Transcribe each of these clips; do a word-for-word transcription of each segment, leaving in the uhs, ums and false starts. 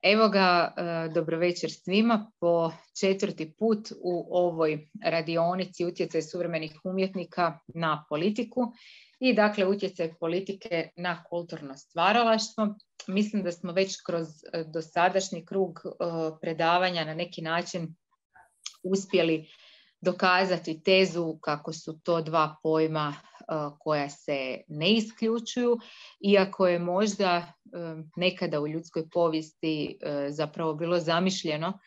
Evo ga, dobro večer svima, po četvrti put u ovoj radionici utjecaj suvremenih umjetnika na politiku i dakle utjecaj politike na kulturno stvaralaštvo. Mislim da smo već kroz dosadašnji krug predavanja na neki način uspjeli dokazati tezu kako su to dva pojma koja se ne isključuju, iako je možda nekada u ljudskoj povijesti zapravo bilo zamišljeno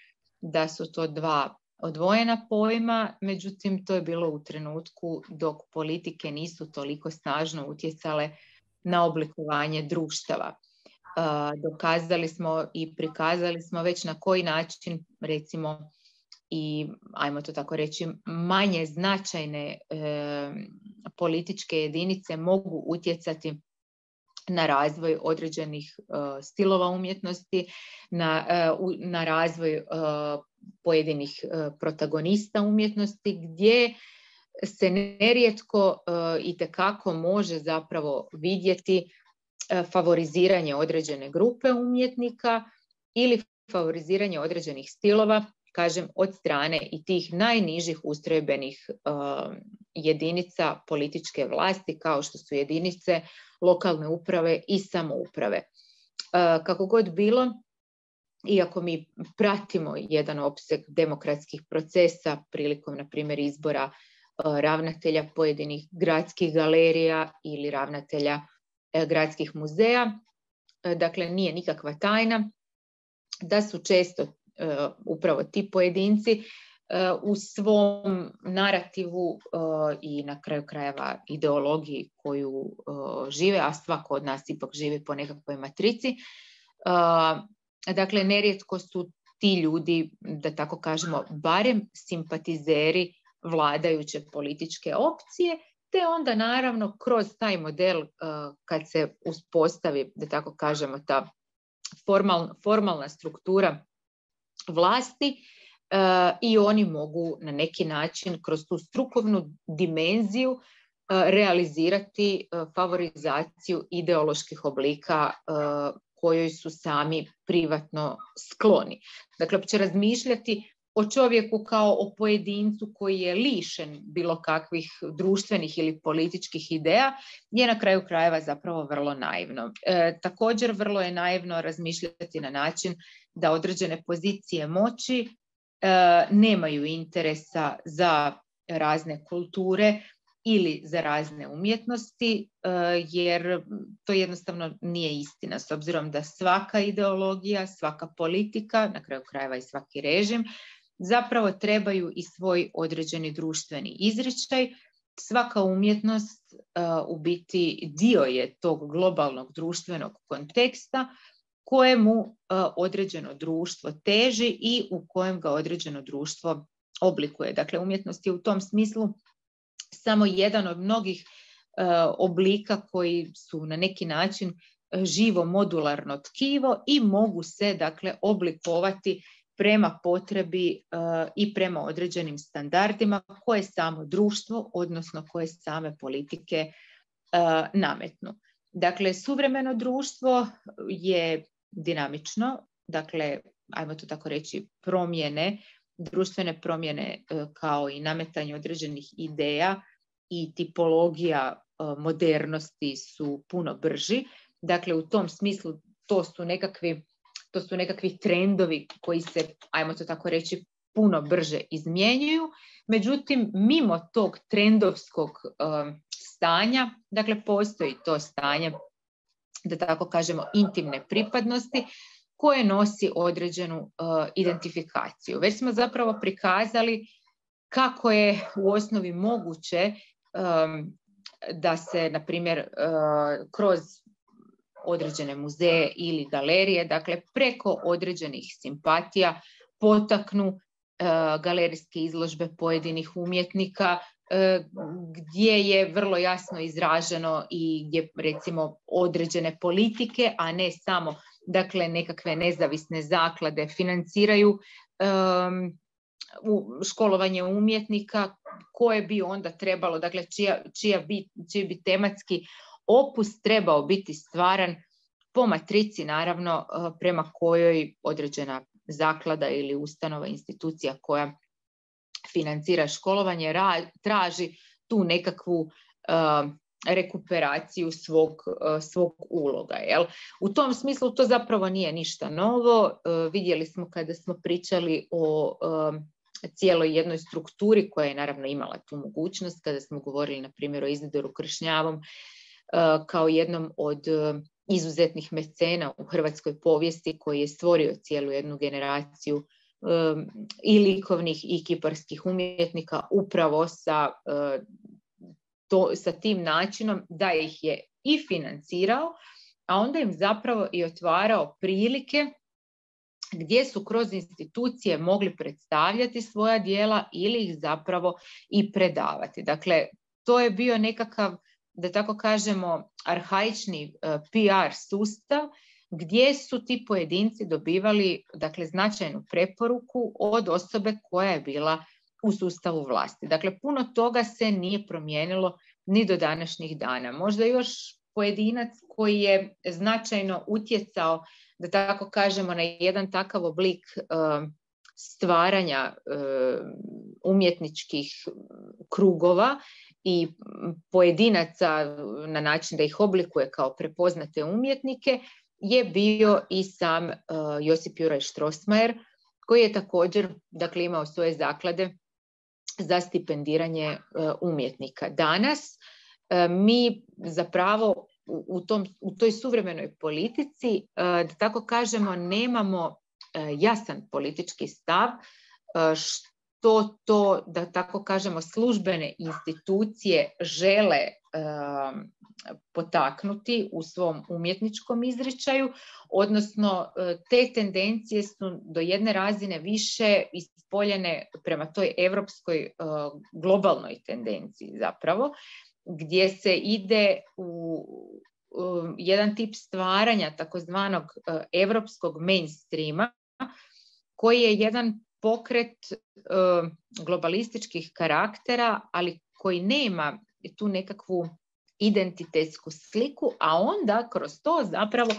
da su to dva odvojena pojma, međutim to je bilo u trenutku dok politike nisu toliko snažno utjecale na oblikovanje društava. Dokazali smo i prikazali smo već na koji način, recimo, i ajmo to tako reći, manje značajne e, političke jedinice mogu utjecati na razvoj određenih e, stilova umjetnosti, na, e, u, na razvoj e, pojedinih e, protagonista umjetnosti, gdje se nerijetko e, itekako može zapravo vidjeti e, favoriziranje određene grupe umjetnika ili favoriziranje određenih stilova, kažem, od strane i tih najnižih ustrojbenih uh, jedinica političke vlasti, kao što su jedinice lokalne uprave i samouprave. Uh, kako god bilo, iako mi pratimo jedan opseg demokratskih procesa prilikom, na primjer, izbora uh, ravnatelja pojedinih gradskih galerija ili ravnatelja uh, gradskih muzeja, uh, dakle nije nikakva tajna da su često Uh, upravo ti pojedinci uh, u svom narativu uh, i na kraju krajeva ideologiji koju uh, žive, a svako od nas ipak živi po nekakvoj matrici. Uh, dakle, nerijetko su ti ljudi, da tako kažemo, barem simpatizeri vladajuće političke opcije, te onda naravno kroz taj model uh, kad se uspostavi, da tako kažemo, ta formal, formalna struktura vlasti uh, i oni mogu na neki način kroz tu strukovnu dimenziju uh, realizirati uh, favorizaciju ideoloških oblika uh, kojoj su sami privatno skloni. Dakle, opće razmišljati o čovjeku kao o pojedincu koji je lišen bilo kakvih društvenih ili političkih ideja je na kraju krajeva zapravo vrlo naivno. E, također vrlo je naivno razmišljati na način da određene pozicije moći e, nemaju interesa za razne kulture ili za razne umjetnosti, e, jer to jednostavno nije istina, s obzirom da svaka ideologija, svaka politika, na kraju krajeva i svaki režim, zapravo trebaju i svoj određeni društveni izričaj. Svaka umjetnost uh, u biti dio je tog globalnog društvenog konteksta kojemu uh, određeno društvo teži i u kojem ga određeno društvo oblikuje. Dakle, umjetnost je u tom smislu samo jedan od mnogih uh, oblika koji su na neki način živo modularno tkivo i mogu se, dakle, oblikovati prema potrebi uh, i prema određenim standardima koje samo društvo, odnosno koje same politike uh, nametnu. Dakle, suvremeno društvo je dinamično, dakle, ajmo to tako reći, promjene, društvene promjene uh, kao i nametanje određenih ideja i tipologija uh, modernosti su puno brži. Dakle, u tom smislu to su nekakvi To su nekakvi trendovi koji se, ajmo to tako reći, puno brže izmjenjuju. Međutim, mimo tog trendovskog um, stanja, dakle, postoji to stanje, da tako kažemo, intimne pripadnosti koje nosi određenu uh, identifikaciju. Već smo zapravo prikazali kako je u osnovi moguće um, da se, na primjer, uh, kroz određene muzeje ili galerije, dakle preko određenih simpatija potaknu e, galerijske izložbe pojedinih umjetnika e, gdje je vrlo jasno izraženo i gdje recimo određene politike, a ne samo dakle nekakve nezavisne zaklade financiraju e, u školovanje umjetnika koje bi onda trebalo, dakle čija, čija bi, čiji bi tematski opus trebao biti stvaran po matrici naravno prema kojoj određena zaklada ili ustanova, institucija koja financira školovanje traži tu nekakvu rekuperaciju svog, svog uloga. Jel? U tom smislu to zapravo nije ništa novo. Vidjeli smo kada smo pričali o cijeloj jednoj strukturi koja je naravno imala tu mogućnost, kada smo govorili na primjer o Izidoru Kršnjavom kao jednom od izuzetnih mecena u hrvatskoj povijesti koji je stvorio cijelu jednu generaciju i likovnih i kiparskih umjetnika upravo sa To, sa tim načinom da ih je i financirao, a onda im zapravo i otvarao prilike gdje su kroz institucije mogli predstavljati svoja djela ili ih zapravo i predavati. Dakle, to je bio nekakav, da tako kažemo, arhaični P R sustav gdje su ti pojedinci dobivali, dakle, značajnu preporuku od osobe koja je bila u sustavu vlasti. Dakle, puno toga se nije promijenilo ni do današnjih dana. Možda još pojedinac koji je značajno utjecao, da tako kažemo, na jedan takav oblik uh, stvaranja uh, umjetničkih krugova i pojedinaca na način da ih oblikuje kao prepoznate umjetnike, je bio i sam uh, Josip Juraj Strossmayer, koji je također, dakle, imao svoje zaklade za stipendiranje umjetnika. Danas mi zapravo u, tom, u toj suvremenoj politici, da tako kažemo, nemamo jasan politički stav što to, da tako kažemo, službene institucije žele potaknuti u svom umjetničkom izričaju, odnosno te tendencije su do jedne razine više ispoljene prema toj europskoj globalnoj tendenciji zapravo, gdje se ide u jedan tip stvaranja takozvanog europskog mainstreama, koji je jedan pokret globalističkih karaktera, ali koji nema tu nekakvu identitetsku sliku, a onda kroz to zapravo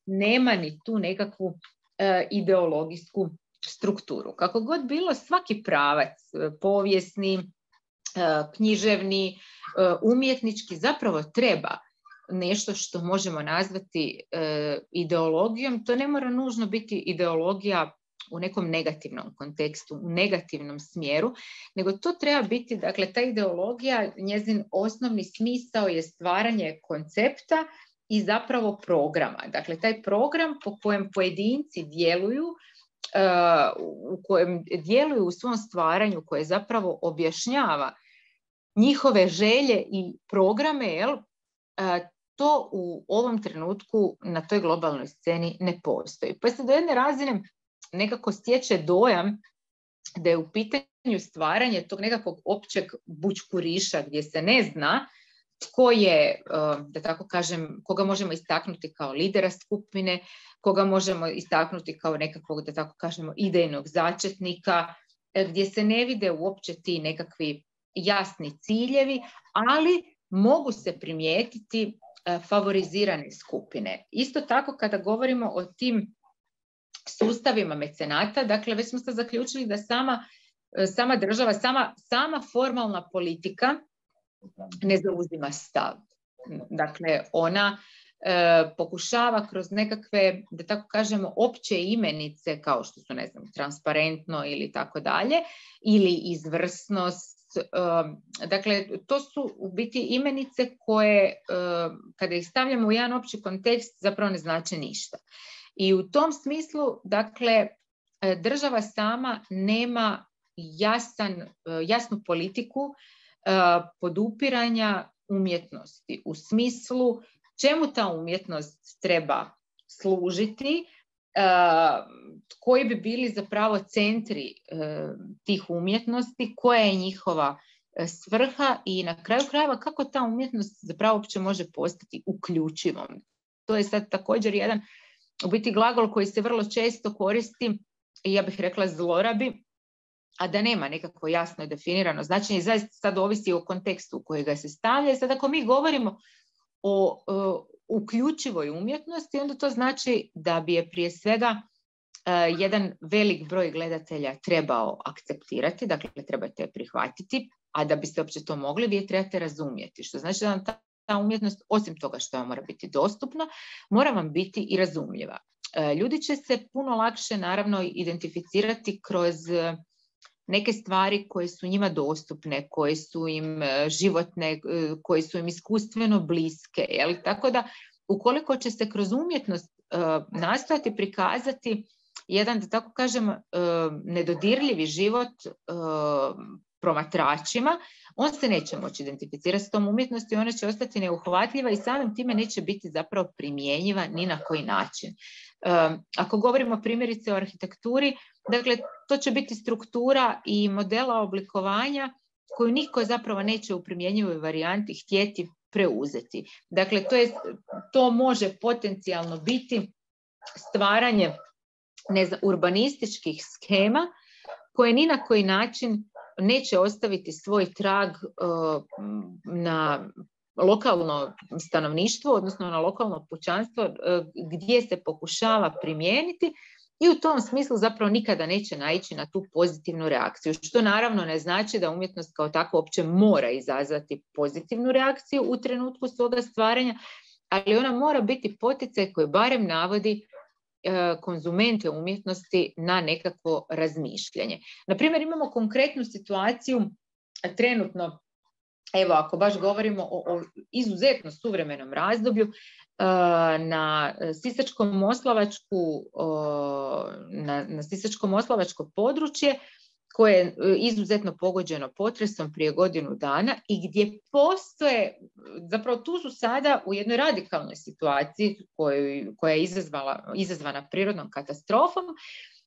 nema ni tu nekakvu uh, ideologijsku strukturu. Kako god bilo, svaki pravac, povijesni, uh, književni, uh, umjetnički, zapravo treba nešto što možemo nazvati uh, ideologijom. To ne mora nužno biti ideologija u nekom negativnom kontekstu, u negativnom smjeru, nego to treba biti, dakle, ta ideologija, njezin osnovni smisao je stvaranje koncepta i zapravo programa. Dakle, taj program po kojem pojedinci djeluju, uh, u kojem djeluju u svom stvaranju, koje zapravo objašnjava njihove želje i programe, jel, uh, to u ovom trenutku na toj globalnoj sceni ne postoji. Pa se do jedne razine nekako stječe dojam da je u pitanju stvaranje tog nekakvog općeg bućkuriša gdje se ne zna tko je, da tako kažem, koga možemo istaknuti kao lidera skupine, koga možemo istaknuti kao nekakvog, da tako kažemo, idejnog začetnika, gdje se ne vide uopće ti nekakvi jasni ciljevi, ali mogu se primijetiti favorizirane skupine. Isto tako kada govorimo o tim sustavima mecenata, dakle već smo sad zaključili da sama, sama država, sama, sama formalna politika ne zauzima stav. Dakle, ona e, pokušava kroz nekakve, da tako kažemo, opće imenice, kao što su, ne znam, transparentno ili tako dalje, ili izvrsnost. E, dakle, to su u biti imenice koje, e, kada ih stavljamo u jedan opći kontekst, zapravo ne znače ništa. I u tom smislu, dakle, država sama nema jasan, jasnu politiku podupiranja umjetnosti u smislu čemu ta umjetnost treba služiti, koji bi bili zapravo centri tih umjetnosti, koja je njihova svrha i na kraju krajeva kako ta umjetnost zapravo uopće može postati uključivom. To je sad također jedan u biti glagol koji se vrlo često koristi i ja bih rekla zlorabi, a da nema nekako jasno definirano značenje i zaista sad ovisi o kontekstu u koji ga se stavlja. I sad ako mi govorimo o, uključivoj umjetnosti, onda to znači da bi je prije svega uh, jedan velik broj gledatelja trebao akceptirati, dakle trebate je prihvatiti, a da biste uopće to mogli, vi je trebate razumjeti, što znači da vam ta, ta umjetnost, osim toga što vam mora biti dostupna, mora vam biti i razumljiva. Uh, ljudi će se puno lakše naravno identificirati kroz uh, neke stvari koje su njima dostupne, koje su im životne, koje su im iskustveno bliske. Jel? Tako da, ukoliko će se kroz umjetnost uh, nastojati prikazati jedan, da tako kažem, uh, nedodirljivi život uh, promatračima, on se neće moći identificirati s tom umjetnosti, ona će ostati neuhvatljiva i samim time neće biti zapravo primjenjiva ni na koji način. Uh, ako govorimo primjerice o arhitekturi, dakle, to će biti struktura i modela oblikovanja koju niko zapravo neće u primjenjivoj varijanti htjeti preuzeti. Dakle, to, je, to može potencijalno biti stvaranje ne znam, urbanističkih skema koje ni na koji način neće ostaviti svoj trag uh, na lokalno stanovništvo, odnosno na lokalno pučanstvo uh, gdje se pokušava primijeniti. I u tom smislu zapravo nikada neće naići na tu pozitivnu reakciju, što naravno ne znači da umjetnost kao tako uopće mora izazvati pozitivnu reakciju u trenutku svoga stvaranja, ali ona mora biti poticaj koji barem navodi e, konzumente umjetnosti na nekakvo razmišljanje. Naprimjer, imamo konkretnu situaciju trenutno, evo ako baš govorimo o, o izuzetno suvremenom razdoblju, na Sisačko-moslavačku, na, na Sisačko-moslavačko područje koje je izuzetno pogođeno potresom prije godinu dana i gdje postoje, zapravo tu su sada u jednoj radikalnoj situaciji koju, koja je izazvala, izazvana prirodnom katastrofom.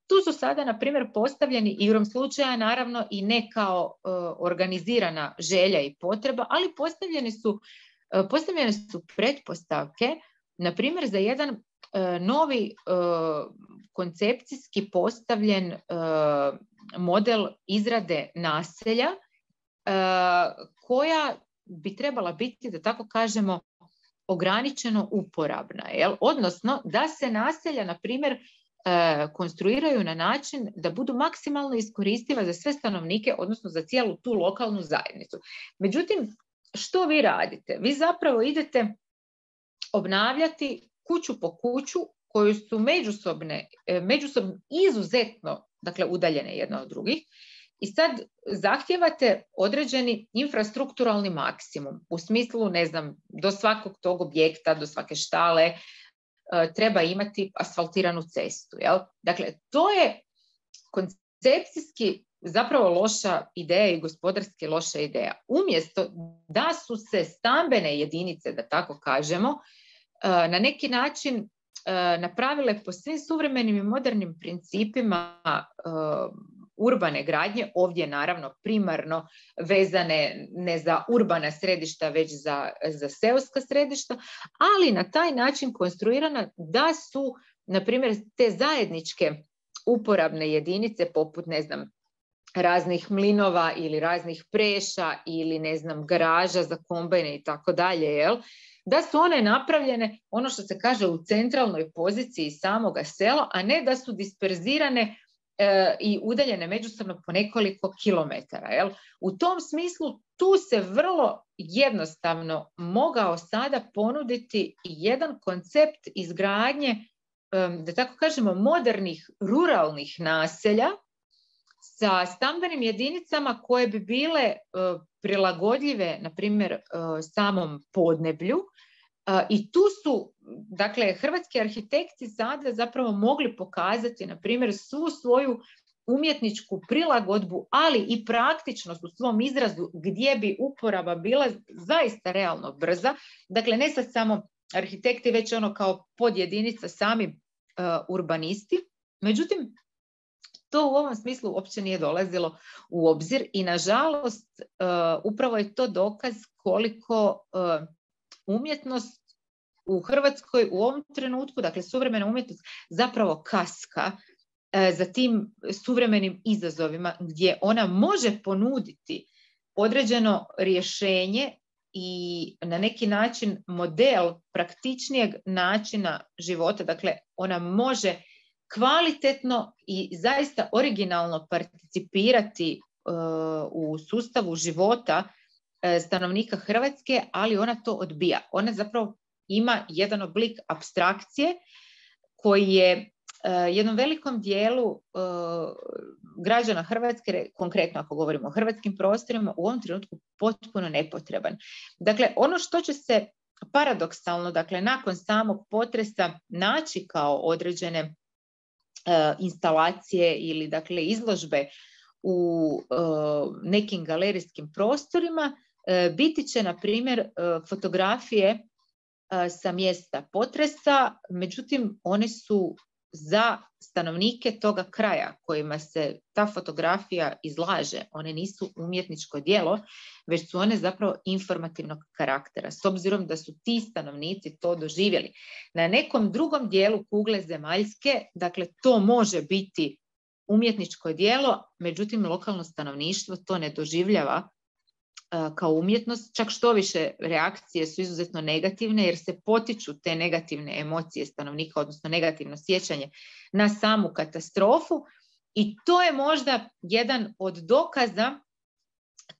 Tu su sada, na primjer, postavljeni igrom slučaja, naravno i ne kao uh, organizirana želja i potreba, ali postavljeni su, uh, postavljene su pretpostavke, na primjer, za jedan uh, novi uh, koncepcijski postavljen uh, model izrade naselja uh, koja bi trebala biti, da tako kažemo, ograničeno uporabna. Jel? Odnosno, da se naselja, na primjer, konstruiraju na način da budu maksimalno iskoristiva za sve stanovnike, odnosno za cijelu tu lokalnu zajednicu. Međutim, što vi radite? Vi zapravo idete obnavljati kuću po kuću koju su međusobne, međusobno izuzetno, dakle, udaljene jedna od drugih, i sad zahtijevate određeni infrastrukturalni maksimum, u smislu, ne znam, do svakog tog objekta, do svake štale, treba imati asfaltiranu cestu. Jel? Dakle, to je koncepcijski zapravo loša ideja i gospodarski loša ideja. Umjesto da su se stambene jedinice, da tako kažemo, na neki način napravile po svim suvremenim i modernim principima urbane gradnje, ovdje naravno primarno vezane ne za urbana središta, već za, za seoska središta, ali na taj način konstruirana da su, na primjer, te zajedničke uporabne jedinice poput, ne znam, raznih mlinova ili raznih preša ili, ne znam, garaža za kombajne i tako dalje, jel? Da su one napravljene, ono što se kaže, u centralnoj poziciji samoga sela, a ne da su disperzirane e, i udaljene međusobno po nekoliko kilometara. Jel? U tom smislu tu se vrlo jednostavno mogao sada ponuditi jedan koncept izgradnje, e, da tako kažemo, modernih ruralnih naselja sa stambenim jedinicama koje bi bile e, prilagodljive, na primjer, e, samom podneblju. E, I tu su, dakle, hrvatski arhitekti sada zapravo mogli pokazati, na primjer, svu svoju umjetničku prilagodbu, ali i praktičnost u svom izrazu gdje bi uporaba bila zaista realno brza. Dakle, ne sad samo arhitekti, već ono kao podjedinica sami e, urbanisti. Međutim, to u ovom smislu uopće nije dolazilo u obzir i nažalost uh, upravo je to dokaz koliko uh, umjetnost u Hrvatskoj u ovom trenutku, dakle suvremena umjetnost, zapravo kaska uh, za tim suvremenim izazovima gdje ona može ponuditi određeno rješenje i na neki način model praktičnijeg načina života. Dakle, ona može kvalitetno i zaista originalno participirati uh, u sustavu života uh, stanovnika Hrvatske, ali ona to odbija. Ona zapravo ima jedan oblik apstrakcije koji je uh, jednom velikom dijelu uh, građana Hrvatske, konkretno ako govorimo o hrvatskim prostorima, u ovom trenutku potpuno nepotreban. Dakle, ono što će se paradoksalno, dakle, nakon samog potresa naći kao određene uh, instalacije ili, dakle, izložbe u uh, nekim galerijskim prostorima, uh, biti će, na primjer, uh, fotografije uh, sa mjesta potresa, međutim, one su za stanovnike toga kraja kojima se ta fotografija izlaže. One nisu umjetničko djelo, već su one zapravo informativnog karaktera, s obzirom da su ti stanovnici to doživjeli. Na nekom drugom dijelu kugle zemaljske, dakle, to može biti umjetničko djelo, međutim, lokalno stanovništvo to ne doživljava kao umjetnost, čak što više reakcije su izuzetno negativne jer se potiču te negativne emocije stanovnika, odnosno negativno sjećanje na samu katastrofu, i to je možda jedan od dokaza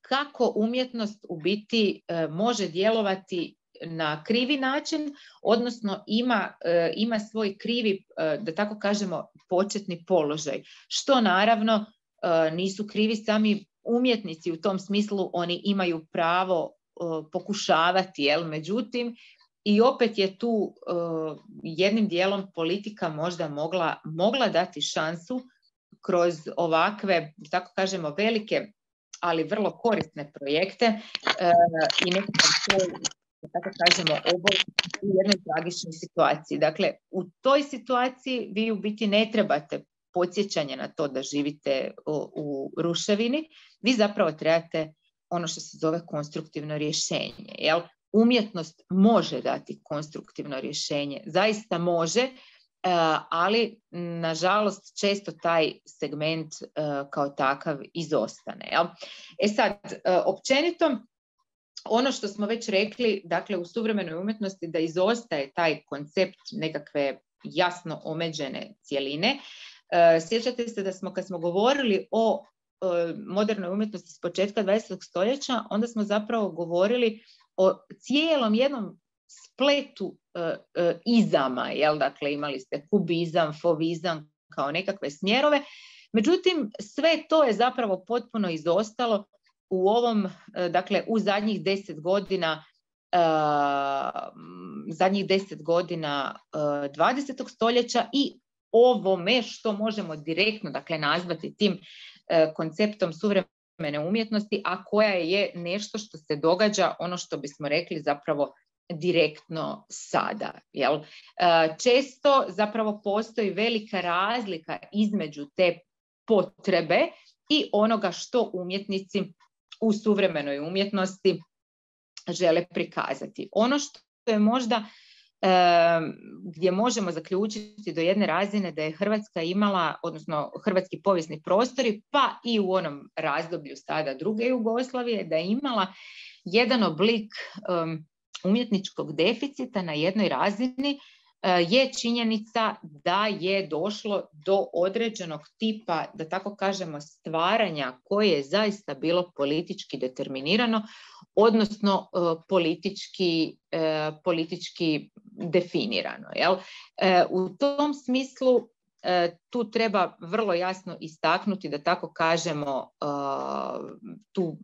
kako umjetnost u biti e, može djelovati na krivi način, odnosno ima, e, ima svoj krivi, e, da tako kažemo, početni položaj, što naravno e, nisu krivi sami umjetnici u tom smislu, oni imaju pravo uh, pokušavati, jel? Međutim, i opet je tu uh, jednim dijelom politika možda mogla, mogla dati šansu kroz ovakve, tako kažemo, velike, ali vrlo korisne projekte uh, i nekakav svoj, tako kažemo, obol u jednoj tragičnoj situaciji. Dakle, u toj situaciji vi u biti ne trebate podsjećanje na to da živite u, u ruševini, vi zapravo trebate ono što se zove konstruktivno rješenje. Jel? Umjetnost može dati konstruktivno rješenje, zaista može, ali nažalost često taj segment kao takav izostane. Jel? E sad, općenito, ono što smo već rekli, dakle, u suvremenoj umjetnosti da izostaje taj koncept nekakve jasno omeđene cjeline. Sjećate se da smo, kad smo govorili o modernoj umjetnosti s početka dvadesetog stoljeća, onda smo zapravo govorili o cijelom jednom spletu uh, uh, izama, jel? Dakle, imali ste kubizam, fovizam kao nekakve smjerove, međutim, sve to je zapravo potpuno izostalo u ovom, uh, dakle, u zadnjih deset godina uh, zadnjih deset godina uh, dvadesetog stoljeća i ovome što možemo direktno, dakle, nazvati tim e, konceptom suvremene umjetnosti, a koja je nešto što se događa, ono što bismo rekli zapravo direktno sada. Jel? E, često zapravo postoji velika razlika između te potrebe i onoga što umjetnici u suvremenoj umjetnosti žele prikazati. Ono što je možda gdje možemo zaključiti do jedne razine da je Hrvatska imala, odnosno hrvatski povijesni prostori, pa i u onom razdoblju sada druge Jugoslavije, da je imala jedan oblik um, umjetničkog deficita na jednoj razini, uh, je činjenica da je došlo do određenog tipa, da tako kažemo, stvaranja koje je zaista bilo politički determinirano, odnosno uh, politički, uh, politički definirano. Jel? Uh, u tom smislu uh, tu treba vrlo jasno istaknuti, da tako kažemo, uh, tu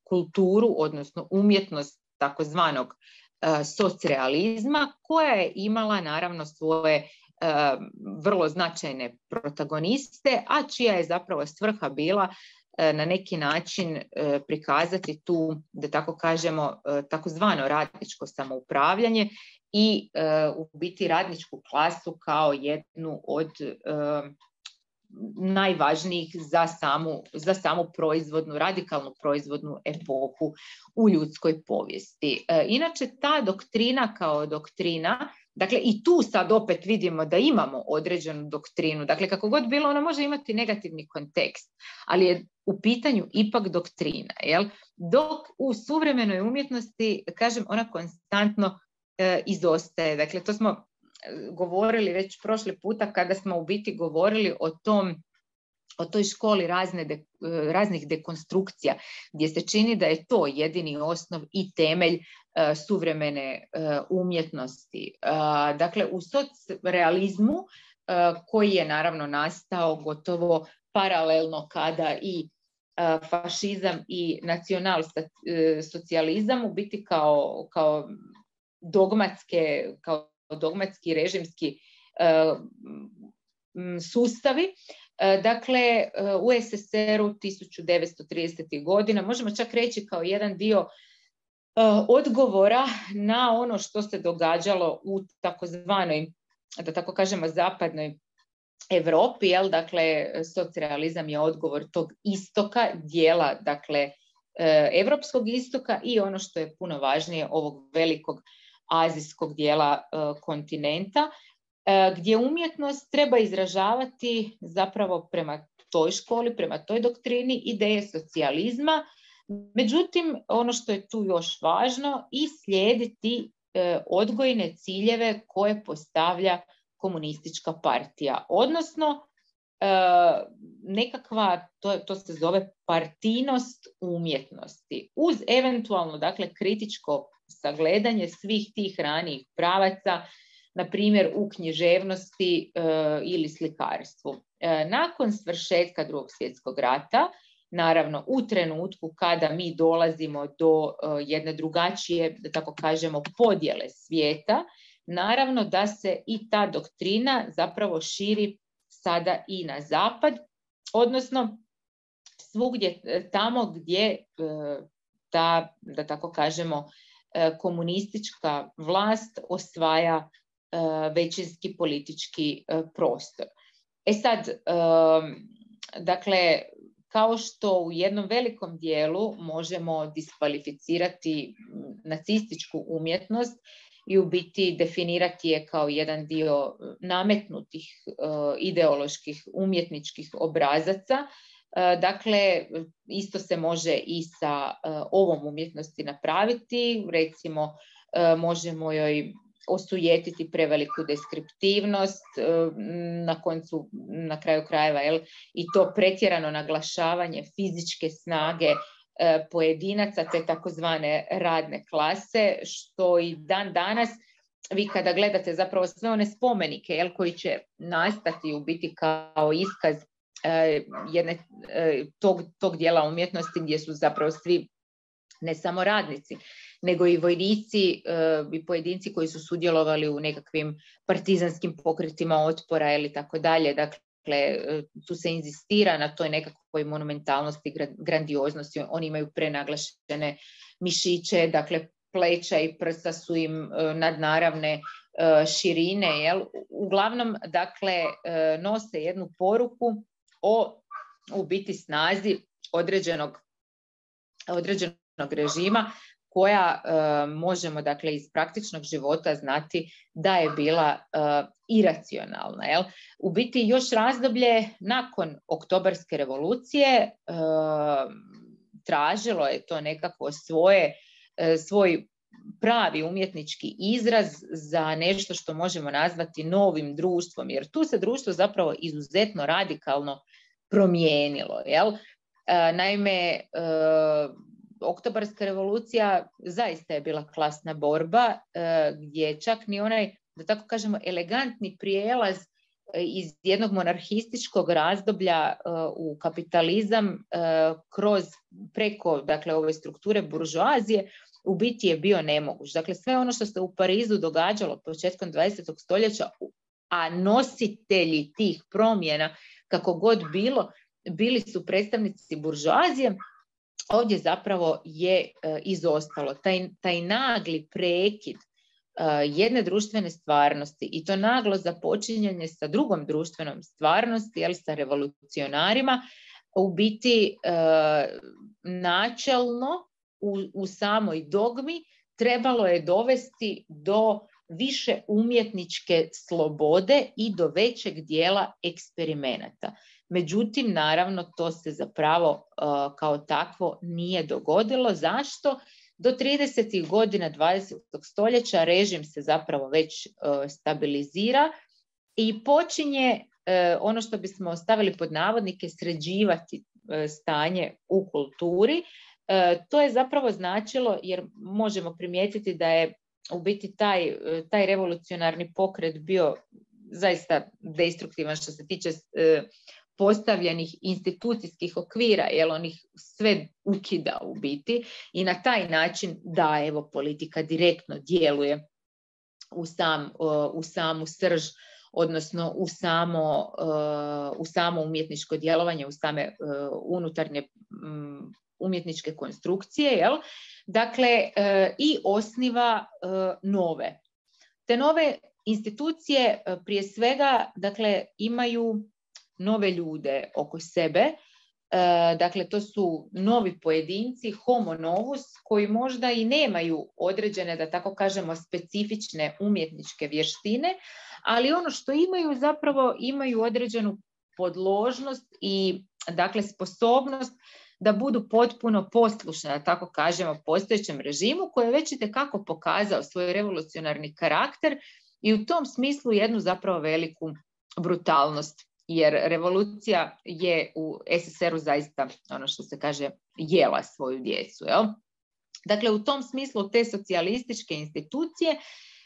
kulturu, odnosno umjetnost takozvanog uh, socrealizma, koja je imala naravno svoje uh, vrlo značajne protagoniste, a čija je zapravo svrha bila na neki način prikazati tu, da tako kažemo, takozvano radničko samoupravljanje i u biti radničku klasu kao jednu od najvažnijih za samu, za samu proizvodnu, radikalnu proizvodnu epohu u ljudskoj povijesti. Inače, ta doktrina kao doktrina, Dakle, i tu sad opet vidimo da imamo određenu doktrinu. Dakle, kako god bilo, ona može imati negativni kontekst, ali je u pitanju ipak doktrina. Jel? Dok u suvremenoj umjetnosti, kažem, ona konstantno e, izostaje. Dakle, to smo govorili već prošli puta kada smo u biti govorili o tom o toj školi razne de, raznih dekonstrukcija, gdje se čini da je to jedini osnov i temelj uh, suvremene uh, umjetnosti. Uh, dakle, u socrealizmu, uh, koji je naravno nastao gotovo paralelno kada i uh, fašizam i nacionalsocijalizam u biti kao, kao, dogmatske, kao dogmatski režimski uh, sustavi. Dakle, u es es er u tisuću devetsto tridesetih godina, možemo čak reći kao jedan dio odgovora na ono što se događalo u takozvanoj, da tako kažemo, zapadnoj Europi, jel? Dakle, socrealizam je odgovor tog istoka, dijela, dakle, evropskog istoka i ono što je puno važnije, ovog velikog azijskog dijela kontinenta, gdje umjetnost treba izražavati zapravo prema toj školi, prema toj doktrini ideje socijalizma. Međutim, ono što je tu još važno, i slijediti e, odgojne ciljeve koje postavlja komunistička partija. Odnosno, e, nekakva, to, to se zove partijnost umjetnosti, uz eventualno, dakle, kritičko sagledanje svih tih ranijih pravaca, na primjer u književnosti e, ili slikarstvu. E, nakon svršetka Drugog svjetskog rata, naravno u trenutku kada mi dolazimo do e, jedne drugačije, da tako kažemo, podjele svijeta, naravno da se i ta doktrina zapravo širi sada i na zapad, odnosno svugdje tamo gdje e, ta, da tako kažemo, e, komunistička vlast osvaja većinski politički prostor. E sad, dakle, kao što u jednom velikom dijelu možemo diskvalificirati nacističku umjetnost i u biti definirati je kao jedan dio nametnutih ideoloških umjetničkih obrazaca, dakle, isto se može i sa ovom umjetnosti napraviti. Recimo, možemo joj osujetiti preveliku deskriptivnost, na koncu, na kraju krajeva, jel, i to pretjerano naglašavanje fizičke snage pojedinaca, te takozvane radne klase, što i dan danas, vi kada gledate zapravo sve one spomenike, jel, koji će nastati u biti kao iskaz jedne, tog, tog dijela umjetnosti gdje su zapravo svi, ne samo radnici, nego i vojnici i pojedinci koji su sudjelovali u nekakvim partizanskim pokretima otpora ili tako dalje. Dakle, tu se inzistira na toj nekakvoj monumentalnosti, grandioznosti. Oni imaju prenaglašene mišiće, dakle, pleća i prsa su im nadnaravne širine. Jel? Uglavnom, dakle, nose jednu poruku o, u biti, snazi određenog, određenog režima, koja e, možemo, dakle, iz praktičnog života znati da je bila e, iracionalna. Jel? U biti još razdoblje nakon Oktobarske revolucije e, tražilo je to nekako svoje, e, svoj pravi umjetnički izraz za nešto što možemo nazvati novim društvom, jer tu se društvo zapravo izuzetno radikalno promijenilo. Jel? E, naime, e, Oktobarska revolucija zaista je bila klasna borba, e, gdje čak ni onaj, da tako kažemo, elegantni prijelaz iz jednog monarhističkog razdoblja e, u kapitalizam e, kroz, preko, dakle, ove strukture buržoazije, u biti je bio nemoguć. Dakle, sve ono što se u Parizu događalo početkom dvadesetog stoljeća, a nositelji tih promjena, kako god bilo, bili su predstavnici buržoazije, ovdje zapravo je e, izostalo. Taj, taj nagli prekid e, jedne društvene stvarnosti i to naglo započinjanje sa drugom društvenom stvarnosti, jel, sa revolucionarima, u biti e, načelno u, u samoj dogmi trebalo je dovesti do više umjetničke slobode i do većeg dijela eksperimenata. Međutim, naravno, to se zapravo uh, kao takvo nije dogodilo. Zašto? Do tridesetih godina dvadesetog stoljeća režim se zapravo već uh, stabilizira i počinje uh, ono što bismo stavili pod navodnike sređivati uh, stanje u kulturi. Uh, to je zapravo značilo, jer možemo primijetiti da je u biti taj, taj revolucionarni pokret bio zaista destruktivan što se tiče uh, postavljenih institucijskih okvira, jer on ih sve ukida u biti i na taj način da evo politika direktno djeluje u, sam, u samu srž, odnosno u samo, u samo umjetničko djelovanje, u same unutarnje umjetničke konstrukcije, jel? Dakle, i osniva nove. Te nove institucije prije svega, dakle, imaju nove ljude oko sebe, e, dakle to su novi pojedinci, homo novus, koji možda i nemaju određene, da tako kažemo, specifične umjetničke vještine, ali ono što imaju zapravo imaju određenu podložnost i dakle sposobnost da budu potpuno poslušne, da tako kažemo, postojećem režimu koji je već itekako pokazao svoj revolucionarni karakter i u tom smislu jednu zapravo veliku brutalnost. Jer revolucija je u es es er u zaista, ono što se kaže, jela svoju djecu. Jel? Dakle, u tom smislu te socijalističke institucije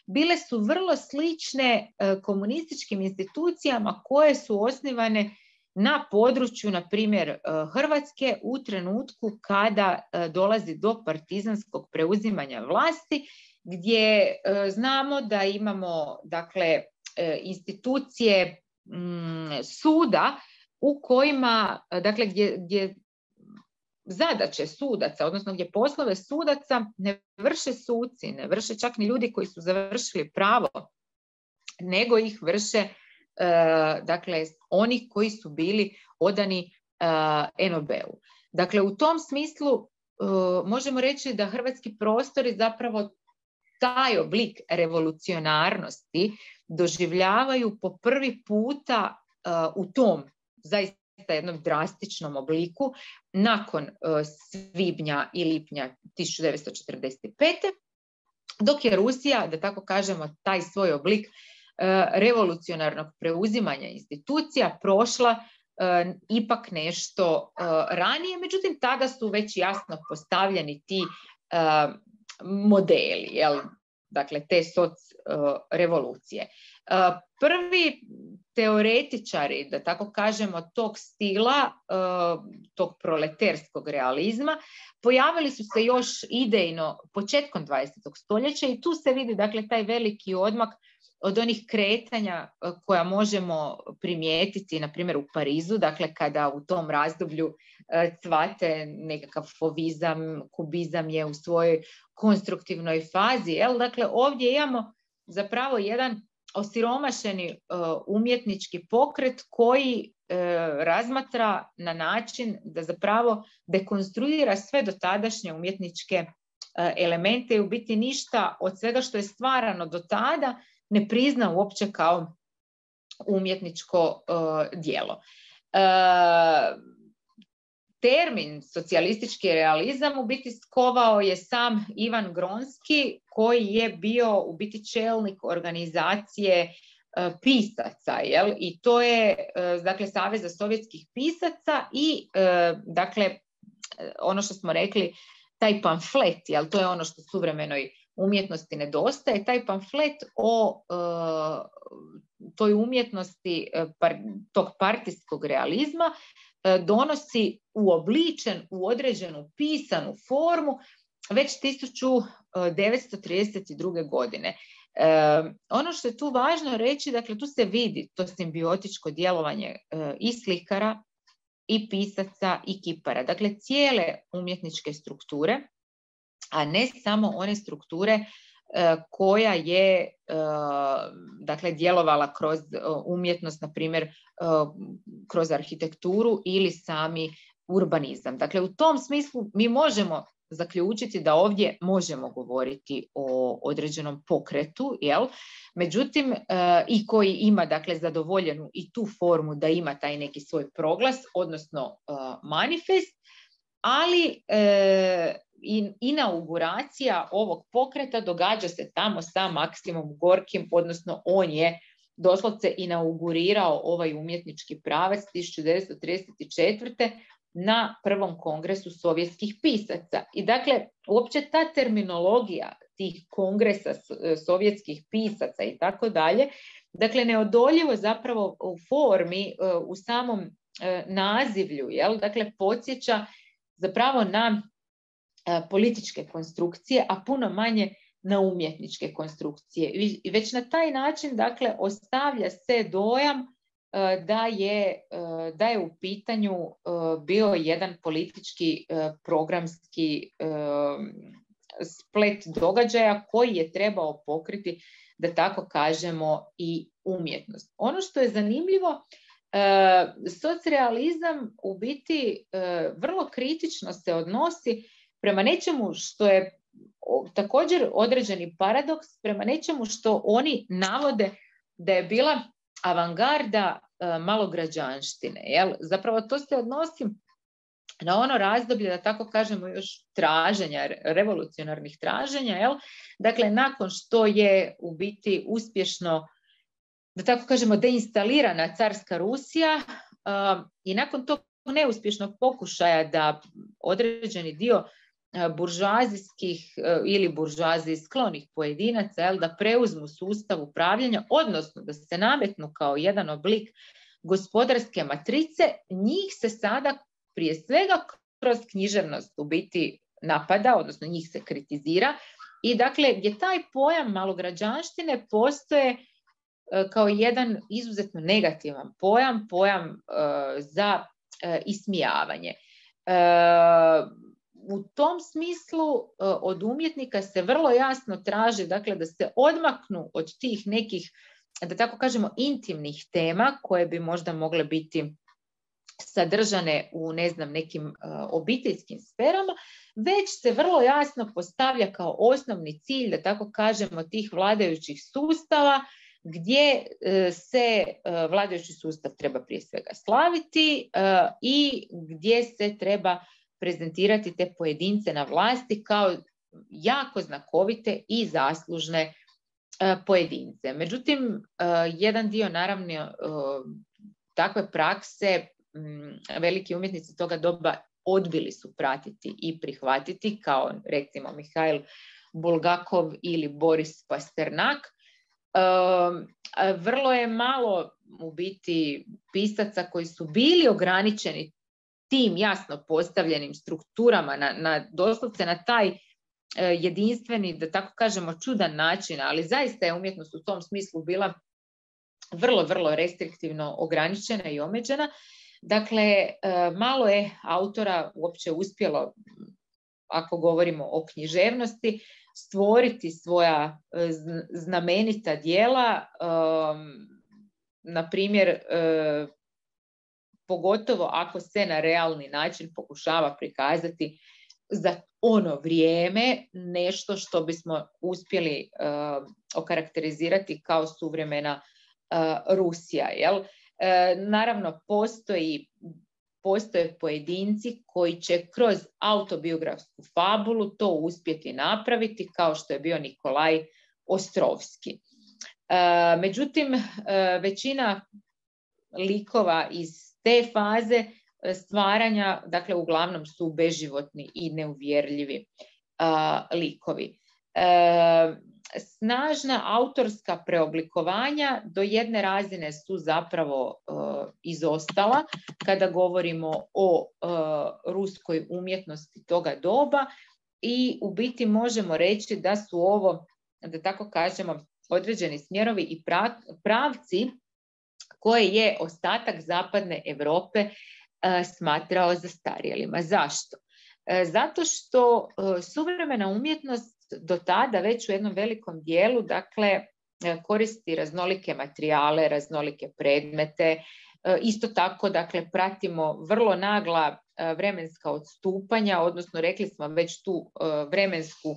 bile su vrlo slične e, komunističkim institucijama koje su osnivane na području, na primjer, e, Hrvatske u trenutku kada e, dolazi do partizanskog preuzimanja vlasti, gdje e, znamo da imamo, dakle, e, institucije suda u kojima, dakle, gdje, gdje zadaće sudaca, odnosno gdje poslove sudaca ne vrše suci, ne vrše čak ni ljudi koji su završili pravo, nego ih vrše uh, dakle, oni koji su bili odani uh, en o be-u. Dakle, u tom smislu uh, možemo reći da hrvatski prostori zapravo taj oblik revolucionarnosti doživljavaju po prvi puta uh, u tom zaista jednom drastičnom obliku nakon uh, svibnja i lipnja tisuću devetsto četrdeset pete. Dok je Rusija, da tako kažemo, taj svoj oblik uh, revolucionarnog preuzimanja institucija prošla uh, ipak nešto uh, ranije, međutim tada su već jasno postavljeni ti uh, modeli, jel? Dakle, te soc uh, revolucije. Uh, prvi teoretičari, da tako kažemo, tog stila, uh, tog proleterskog realizma, pojavili su se još idejno početkom dvadesetog stoljeća i tu se vidi, dakle, taj veliki odmak od onih kretanja koja možemo primijetiti, na primjer, u Parizu, dakle, kada u tom razdoblju cvate nekakav fovizam, kubizam je u svojoj konstruktivnoj fazi. Jel? Dakle, ovdje imamo zapravo jedan osiromašeni uh, umjetnički pokret koji uh, razmatra na način da zapravo dekonstruira sve dotadašnje umjetničke uh, elemente i u biti ništa od svega što je stvarano do tada ne prizna uopće kao umjetničko uh, djelo. Uh, termin socijalistički realizam u biti skovao je sam Ivan Gronski, koji je bio u biti čelnik organizacije uh, pisaca, jel? I to je uh, dakle Saveza sovjetskih pisaca i uh, dakle ono što smo rekli, taj pamflet, jel? To je ono što suvremenoj umjetnosti nedostaje, taj pamflet o uh, toj umjetnosti uh, par, tog partijskog realizma uh, donosi uobličen u određenu pisanu formu već tisuću devetsto trideset druge. godine. Uh, ono što je tu važno reći, dakle tu se vidi to simbiotičko djelovanje uh, i slikara, i pisaca, i kipara. Dakle, cijele umjetničke strukture, a ne samo one strukture uh, koja je uh, dakle, djelovala kroz uh, umjetnost, na primjer uh, kroz arhitekturu ili sami urbanizam. Dakle, u tom smislu mi možemo zaključiti da ovdje možemo govoriti o određenom pokretu, jel? Međutim, uh, i koji ima, dakle, zadovoljenu i tu formu da ima taj neki svoj proglas, odnosno uh, manifest, ali uh, in, inauguracija ovog pokreta događa se tamo sa Maksimom Gorkim, odnosno on je doslovce inaugurirao ovaj umjetnički pravac tisuću devetsto trideset četvrte na prvom kongresu sovjetskih pisaca. I dakle, uopće ta terminologija tih kongresa sovjetskih pisaca i tako dalje, dakle, neodoljivo zapravo u formi, u samom nazivlju, jel? Dakle, podsjeća zapravo na političke konstrukcije, a puno manje na umjetničke konstrukcije. I već na taj način, dakle, ostavlja se dojam da je, da je u pitanju bio jedan politički programski splet događaja koji je trebao pokriti, da tako kažemo, i umjetnost. Ono što je zanimljivo, socrealizam u biti vrlo kritično se odnosi prema nečemu što je također određeni paradoks, prema nečemu što oni navode da je bila avangarda malograđanštine. Jel? Zapravo to se odnosi na ono razdoblje, da tako kažemo, još traženja, revolucionarnih traženja. Jel? Dakle, nakon što je u biti uspješno, da tako kažemo, deinstalirana carska Rusija uh, i nakon tog neuspješnog pokušaja da određeni dio buržoazijskih ili buržoaziji sklonih pojedinaca, jel, da preuzmu sustav upravljanja, odnosno da se nametnu kao jedan oblik gospodarske matrice, njih se sada prije svega kroz književnost u biti napada, odnosno njih se kritizira. I dakle, gdje taj pojam malograđanštine postoje kao jedan izuzetno negativan pojam, pojam uh, za uh, ismijavanje. Uh, U tom smislu od umjetnika se vrlo jasno traži, dakle, da se odmaknu od tih nekih, da tako kažemo, intimnih tema koje bi možda mogle biti sadržane u, ne znam, nekim obiteljskim sferama, već se vrlo jasno postavlja kao osnovni cilj, da tako kažemo, tih vladajućih sustava, gdje se vladajući sustav treba prije svega slaviti i gdje se treba prezentirati te pojedince na vlasti kao jako znakovite i zaslužne uh, pojedince. Međutim, uh, jedan dio, naravno, uh, takve prakse um, veliki umjetnici toga doba odbili su pratiti i prihvatiti, kao recimo Mihail Bulgakov ili Boris Pasternak. Uh, vrlo je malo u biti pisaca koji su bili ograničeni tim jasno postavljenim strukturama, na, na, doslovce na taj e, jedinstveni, da tako kažemo, čudan način, ali zaista je umjetnost u tom smislu bila vrlo, vrlo restriktivno ograničena i omeđena. Dakle, e, malo je autora uopće uspjelo, ako govorimo o književnosti, stvoriti svoja e, znamenita djela, e, na primjer, e, pogotovo ako se na realni način pokušava prikazati za ono vrijeme nešto što bismo uspjeli uh, okarakterizirati kao suvremena uh, Rusija. Jel? Uh, naravno, postoji, postoje pojedinci koji će kroz autobiografsku fabulu to uspjeti napraviti, kao što je bio Nikolaj Ostrovski. Uh, međutim, uh, većina likova iz te faze stvaranja, dakle, uglavnom su beživotni i neuvjerljivi uh, likovi. Uh, snažna autorska preoblikovanja do jedne razine su zapravo uh, izostala kada govorimo o uh, ruskoj umjetnosti toga doba i u biti možemo reći da su ovo, da tako kažemo, određeni smjerovi i pravci koje je ostatak zapadne Europe uh, smatrao zastarjelima. Zašto? Uh, zato što uh, suvremena umjetnost do tada već u jednom velikom dijelu, dakle, uh, koristi raznolike materijale, raznolike predmete, Isto tako, dakle, pratimo vrlo nagla vremenska odstupanja, odnosno rekli smo već tu vremensku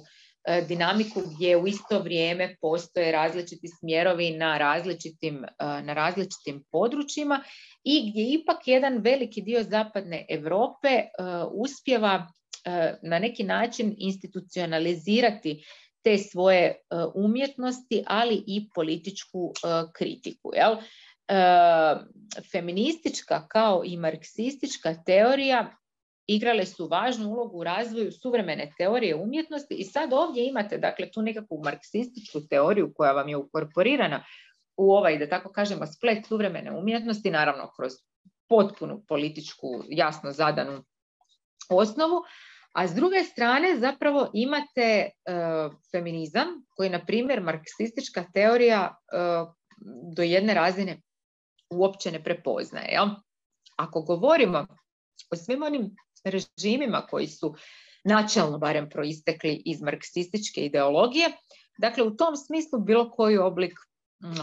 dinamiku gdje u isto vrijeme postoje različiti smjerovi na različitim, na različitim područjima i gdje ipak jedan veliki dio zapadne Europe uspijeva na neki način institucionalizirati te svoje umjetnosti, ali i političku kritiku. Jel? Feministička kao i marksistička teorija igrale su važnu ulogu u razvoju suvremene teorije umjetnosti i sad ovdje imate, dakle, tu nekakvu marksističku teoriju koja vam je ukorporirana u ovaj, da tako kažemo, splet suvremene umjetnosti, naravno kroz potpunu političku, jasno zadanu osnovu, a s druge strane zapravo imate uh, feminizam koji, na primjer, marksistička teorija uh, do jedne razine uopće ne prepoznaje. Jel? Ako govorimo o svim onim režimima koji su načelno barem proistekli iz marksističke ideologije, dakle, u tom smislu bilo koji oblik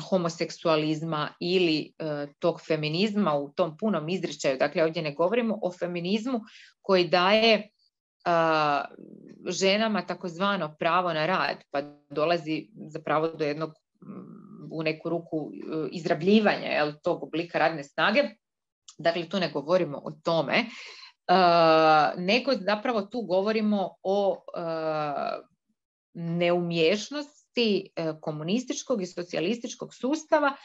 homoseksualizma ili e, tog feminizma u tom punom izričaju, dakle, ovdje ne govorimo o feminizmu koji daje a, ženama takozvano pravo na rad, pa dolazi zapravo do jednog u neku ruku izrabljivanja, jel, tog oblika radne snage. Dakle, tu ne govorimo o tome, uh, nego zapravo tu govorimo o uh, neumješnosti uh, komunističkog i socijalističkog sustava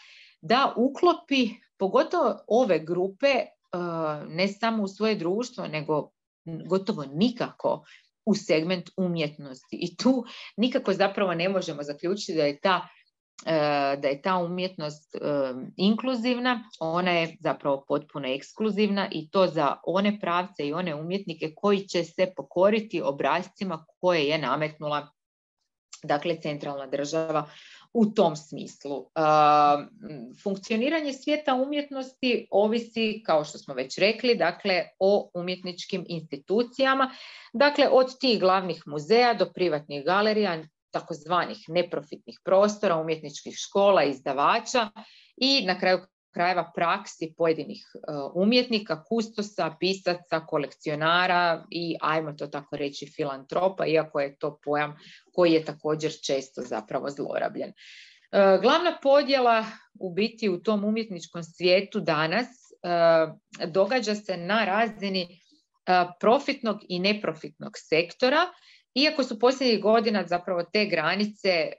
da uklopi pogotovo ove grupe uh, ne samo u svoje društvo, nego gotovo nikako u segment umjetnosti. I tu nikako zapravo ne možemo zaključiti da je ta da je ta umjetnost um, inkluzivna, ona je zapravo potpuno ekskluzivna i to za one pravce i one umjetnike koji će se pokoriti obrascima koje je nametnula, dakle, centralna država u tom smislu. Uh, funkcioniranje svijeta umjetnosti ovisi, kao što smo već rekli, dakle, o umjetničkim institucijama, dakle, od tih glavnih muzeja do privatnih galerija, takozvanih neprofitnih prostora, umjetničkih škola, izdavača i na kraju krajeva praksi pojedinih uh, umjetnika, kustosa, pisaca, kolekcionara i, ajmo to tako reći, filantropa, iako je to pojam koji je također često zapravo zlorabljen. Uh, glavna podjela u biti u tom umjetničkom svijetu danas uh, događa se na razini uh, profitnog i neprofitnog sektora, iako su posljednjih godina zapravo te granice e,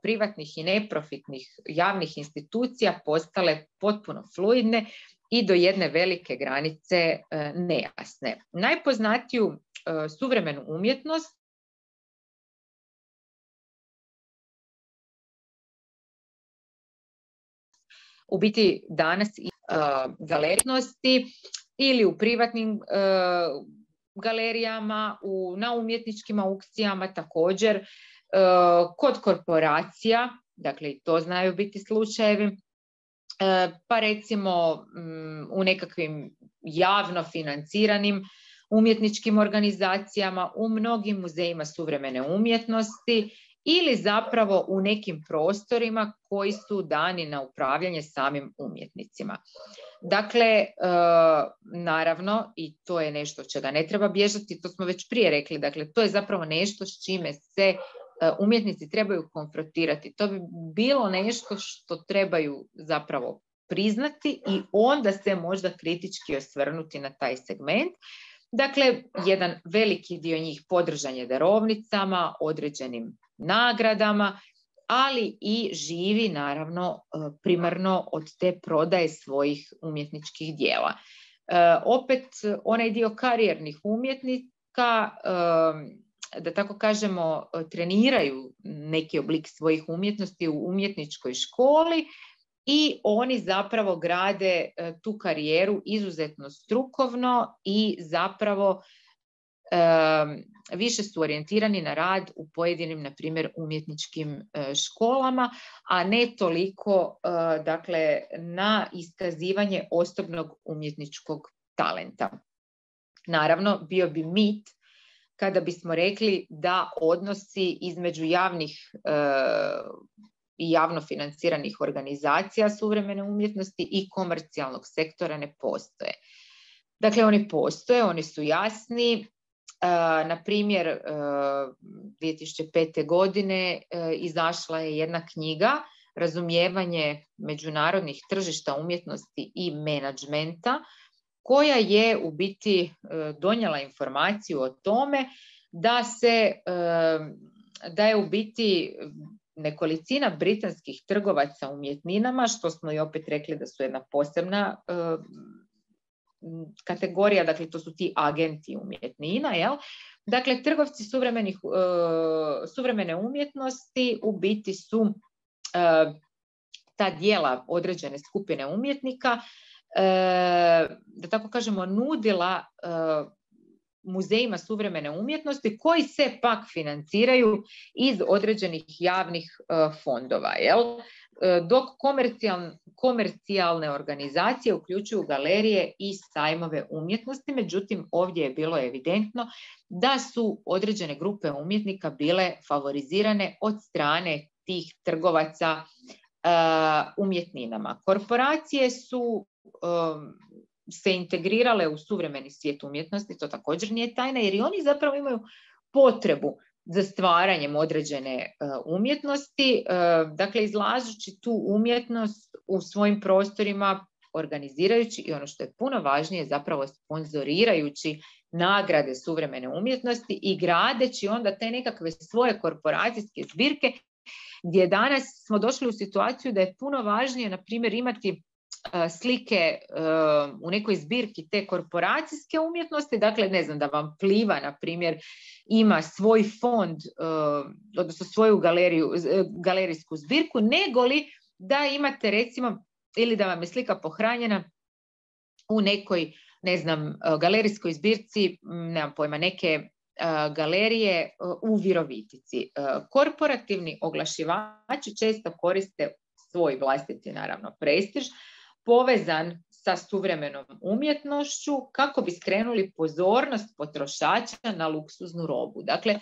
privatnih i neprofitnih javnih institucija postale potpuno fluidne i do jedne velike granice e, nejasne. Najpoznatiju e, suvremenu umjetnost u biti danas i e, galerijnosti ili u privatnim e, galerijama, u, na umjetničkim aukcijama također, e, kod korporacija, dakle i to znaju biti slučajevi, e, pa recimo m, u nekakvim javno financiranim umjetničkim organizacijama, u mnogim muzejima suvremene umjetnosti ili zapravo u nekim prostorima koji su dani na upravljanje samim umjetnicima. Dakle, e, naravno, i to je nešto čega ne treba bježati, to smo već prije rekli, dakle, to je zapravo nešto s čime se e, umjetnici trebaju konfrontirati. To bi bilo nešto što trebaju zapravo priznati i onda se možda kritički osvrnuti na taj segment. Dakle, jedan veliki dio njih podržan je darovnicama, određenim nagradama, ali i živi naravno primarno od te prodaje svojih umjetničkih dijela. E, opet onaj dio karijernih umjetnika, e, da tako kažemo, treniraju neki oblik svojih umjetnosti u umjetničkoj školi i oni zapravo grade e, tu karijeru izuzetno strukovno i zapravo e, više su orijentirani na rad u pojedinim, na primjer, umjetničkim e, školama, a ne toliko e, dakle, na iskazivanje osobnog umjetničkog talenta. Naravno, bio bi mit kada bismo rekli da odnosi između javnih e, i javno financiranih organizacija suvremene umjetnosti i komercijalnog sektora ne postoje. Dakle, oni postoje, oni su jasni. Na primjer, dvije tisuće pete. godine izašla je jedna knjiga Razumijevanje međunarodnih tržišta umjetnosti i menadžmenta, koja je u biti donijela informaciju o tome da se da je u biti nekolicina britanskih trgovaca umjetninama, što smo i opet rekli da su jedna posebna kategorija, dakle to su ti agenti umjetnina, jel? Dakle, trgovci suvremenih, suvremene umjetnosti u biti su ta djela određene skupine umjetnika, da tako kažemo, nudila muzejima suvremene umjetnosti koji se pak financiraju iz određenih javnih fondova, jel? Dok komercijal, komercijalne organizacije uključuju galerije i sajmove umjetnosti. Međutim, ovdje je bilo evidentno da su određene grupe umjetnika bile favorizirane od strane tih trgovaca uh, umjetninama. Korporacije su um, se integrirale u suvremeni svijet umjetnosti, to također nije tajna, jer i oni zapravo imaju potrebu za stvaranjem određene uh, umjetnosti, uh, dakle izlažući tu umjetnost u svojim prostorima, organizirajući i ono što je puno važnije, zapravo sponzorirajući nagrade suvremene umjetnosti i gradeći onda te nekakve svoje korporacijske zbirke, gdje danas smo došli u situaciju da je puno važnije, na primjer, imati slike uh, u nekoj zbirki te korporacijske umjetnosti, dakle ne znam, da vam Pliva na primjer ima svoj fond, uh, odnosno svoju galeriju, galerijsku zbirku, nego li da imate recimo, ili da vam je slika pohranjena u nekoj, ne znam, galerijskoj zbirci, nemam pojma, neke uh, galerije uh, u Virovitici. Uh, korporativni oglašivači često koriste svoj vlastiti, naravno, prestiž povezan sa suvremenom umjetnošću kako bi skrenuli pozornost potrošača na luksuznu robu. Dakle,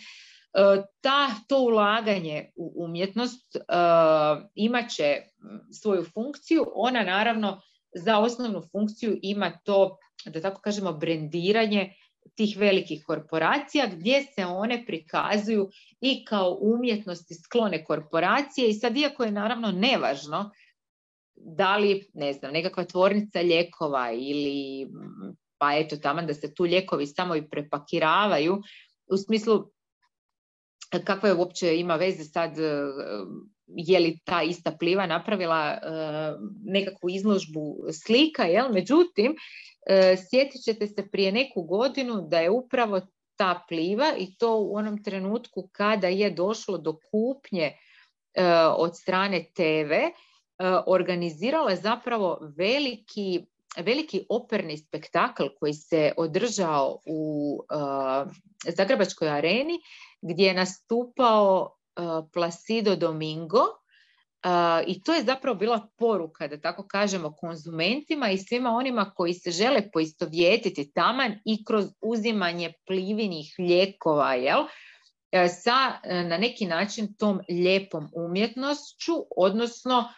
ta, to ulaganje u umjetnost uh, imat će svoju funkciju. Ona naravno za osnovnu funkciju ima to, da tako kažemo, brendiranje tih velikih korporacija, gdje se one prikazuju i kao umjetnosti sklone korporacije. I sad, iako je naravno nevažno da li, ne znam, nekakva tvornica lijekova ili, pa eto, taman da se tu lijekovi samo i prepakiravaju, u smislu kakva je uopće ima veze sad, je li ta ista Pliva napravila uh, nekakvu izložbu slika, jel? Međutim, uh, sjetit ćete se prije neku godinu da je upravo ta Pliva, i to u onom trenutku kada je došlo do kupnje uh, od strane te ve, uh, organizirala zapravo veliki, veliki operni spektakl koji se održao u uh, Zagrebačkoj areni, gdje je nastupao uh, Placido Domingo, uh, i to je zapravo bila poruka, da tako kažemo, konzumentima i svima onima koji se žele poistovjetiti taman i kroz uzimanje Plivinih lijekova, jel? Sa na neki način tom lijepom umjetnošću, odnosno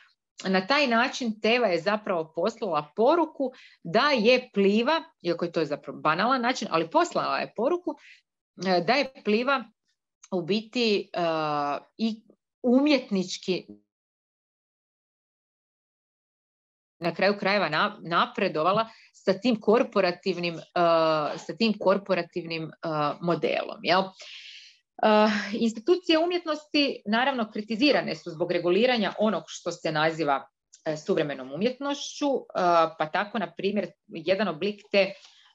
na taj način Teva je zapravo poslala poruku da je Pliva, iako je to zapravo banalan način, ali poslala je poruku da je Pliva u biti uh, i umjetnički na kraju krajeva napredovala sa tim korporativnim, uh, sa tim korporativnim uh, modelom. Jel? Uh, institucije umjetnosti naravno kritizirane su zbog reguliranja onog što se naziva uh, suvremenom umjetnošću, uh, pa tako, na primjer, jedan oblik te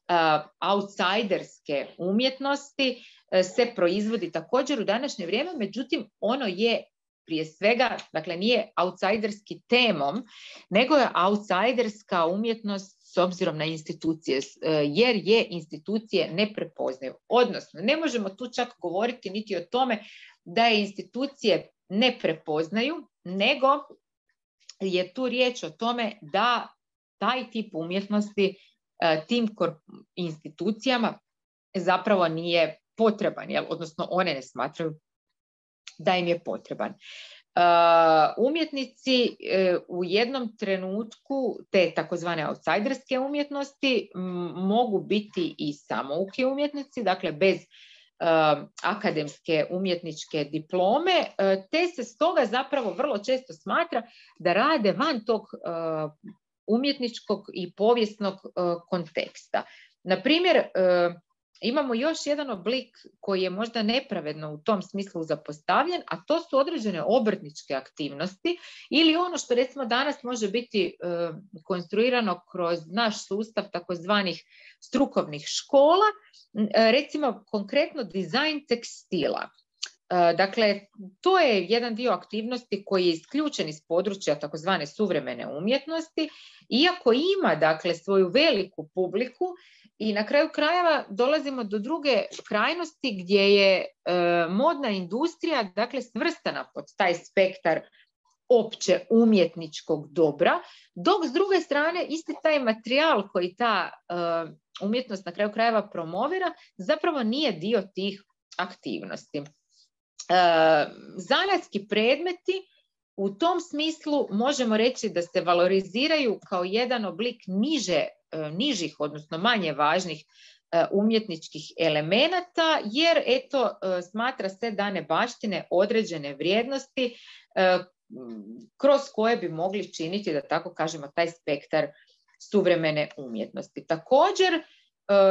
Uh, outsiderske umjetnosti uh, se proizvodi također u današnje vrijeme, međutim ono je prije svega, dakle nije outsiderski temom, nego je outsiderska umjetnost s obzirom na institucije, uh, jer je institucije ne prepoznaju. Odnosno, ne možemo tu čak govoriti niti o tome da je institucije ne prepoznaju, nego je tu riječ o tome da taj tip umjetnosti tim institucijama zapravo nije potreban, jel? Odnosno one ne smatraju da im je potreban. umjetnici u jednom trenutku te takozvane outsiderske umjetnosti mogu biti i samouki umjetnici, dakle bez akademske umjetničke diplome, te se stoga zapravo vrlo često smatra da rade van tog umjetničkog i povijesnog konteksta. Na primjer, imamo još jedan oblik koji je možda nepravedno u tom smislu zapostavljen, a to su određene obrtničke aktivnosti ili ono što recimo danas može biti konstruirano kroz naš sustav takozvanih strukovnih škola, recimo konkretno dizajn tekstila. Dakle, to je jedan dio aktivnosti koji je isključen iz područja takozvane suvremene umjetnosti, iako ima dakle svoju veliku publiku. I na kraju krajeva dolazimo do druge krajnosti gdje je e, modna industrija dakle svrstana pod taj spektar opće umjetničkog dobra, dok s druge strane isti taj materijal koji ta e, umjetnost na kraju krajeva promovira zapravo nije dio tih aktivnosti. E, zanatski predmeti u tom smislu možemo reći da se valoriziraju kao jedan oblik niže nižih, odnosno manje važnih umjetničkih elemenata, jer eto, smatra se da ne baštine određene vrijednosti kroz koje bi mogli činiti, da tako kažemo, taj spektar suvremene umjetnosti. Također,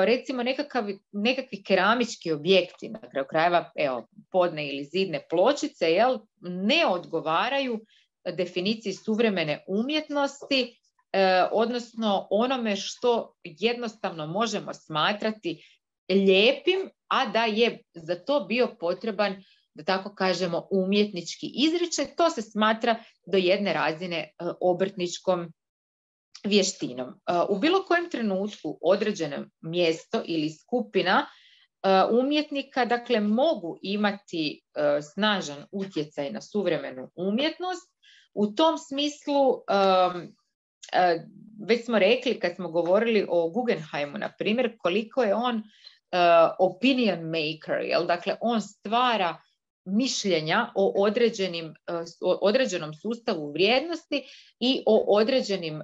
recimo nekakav, nekakvi keramički objekti, na kraju krajeva, evo, podne ili zidne pločice, jel, ne odgovaraju definiciji suvremene umjetnosti, odnosno onome što jednostavno možemo smatrati lijepim, a da je za to bio potreban, da tako kažemo, umjetnički izričaj. To se smatra do jedne razine obrtničkom vještinom. U bilo kojem trenutku određeno mjesto ili skupina umjetnika, dakle, mogu imati snažan utjecaj na suvremenu umjetnost. U tom smislu već smo rekli kad smo govorili o Guggenheimu, na primjer, koliko je on uh, opinion maker, jel? Dakle, on stvara mišljenja o, određenim, uh, o određenom sustavu vrijednosti i o određenim uh,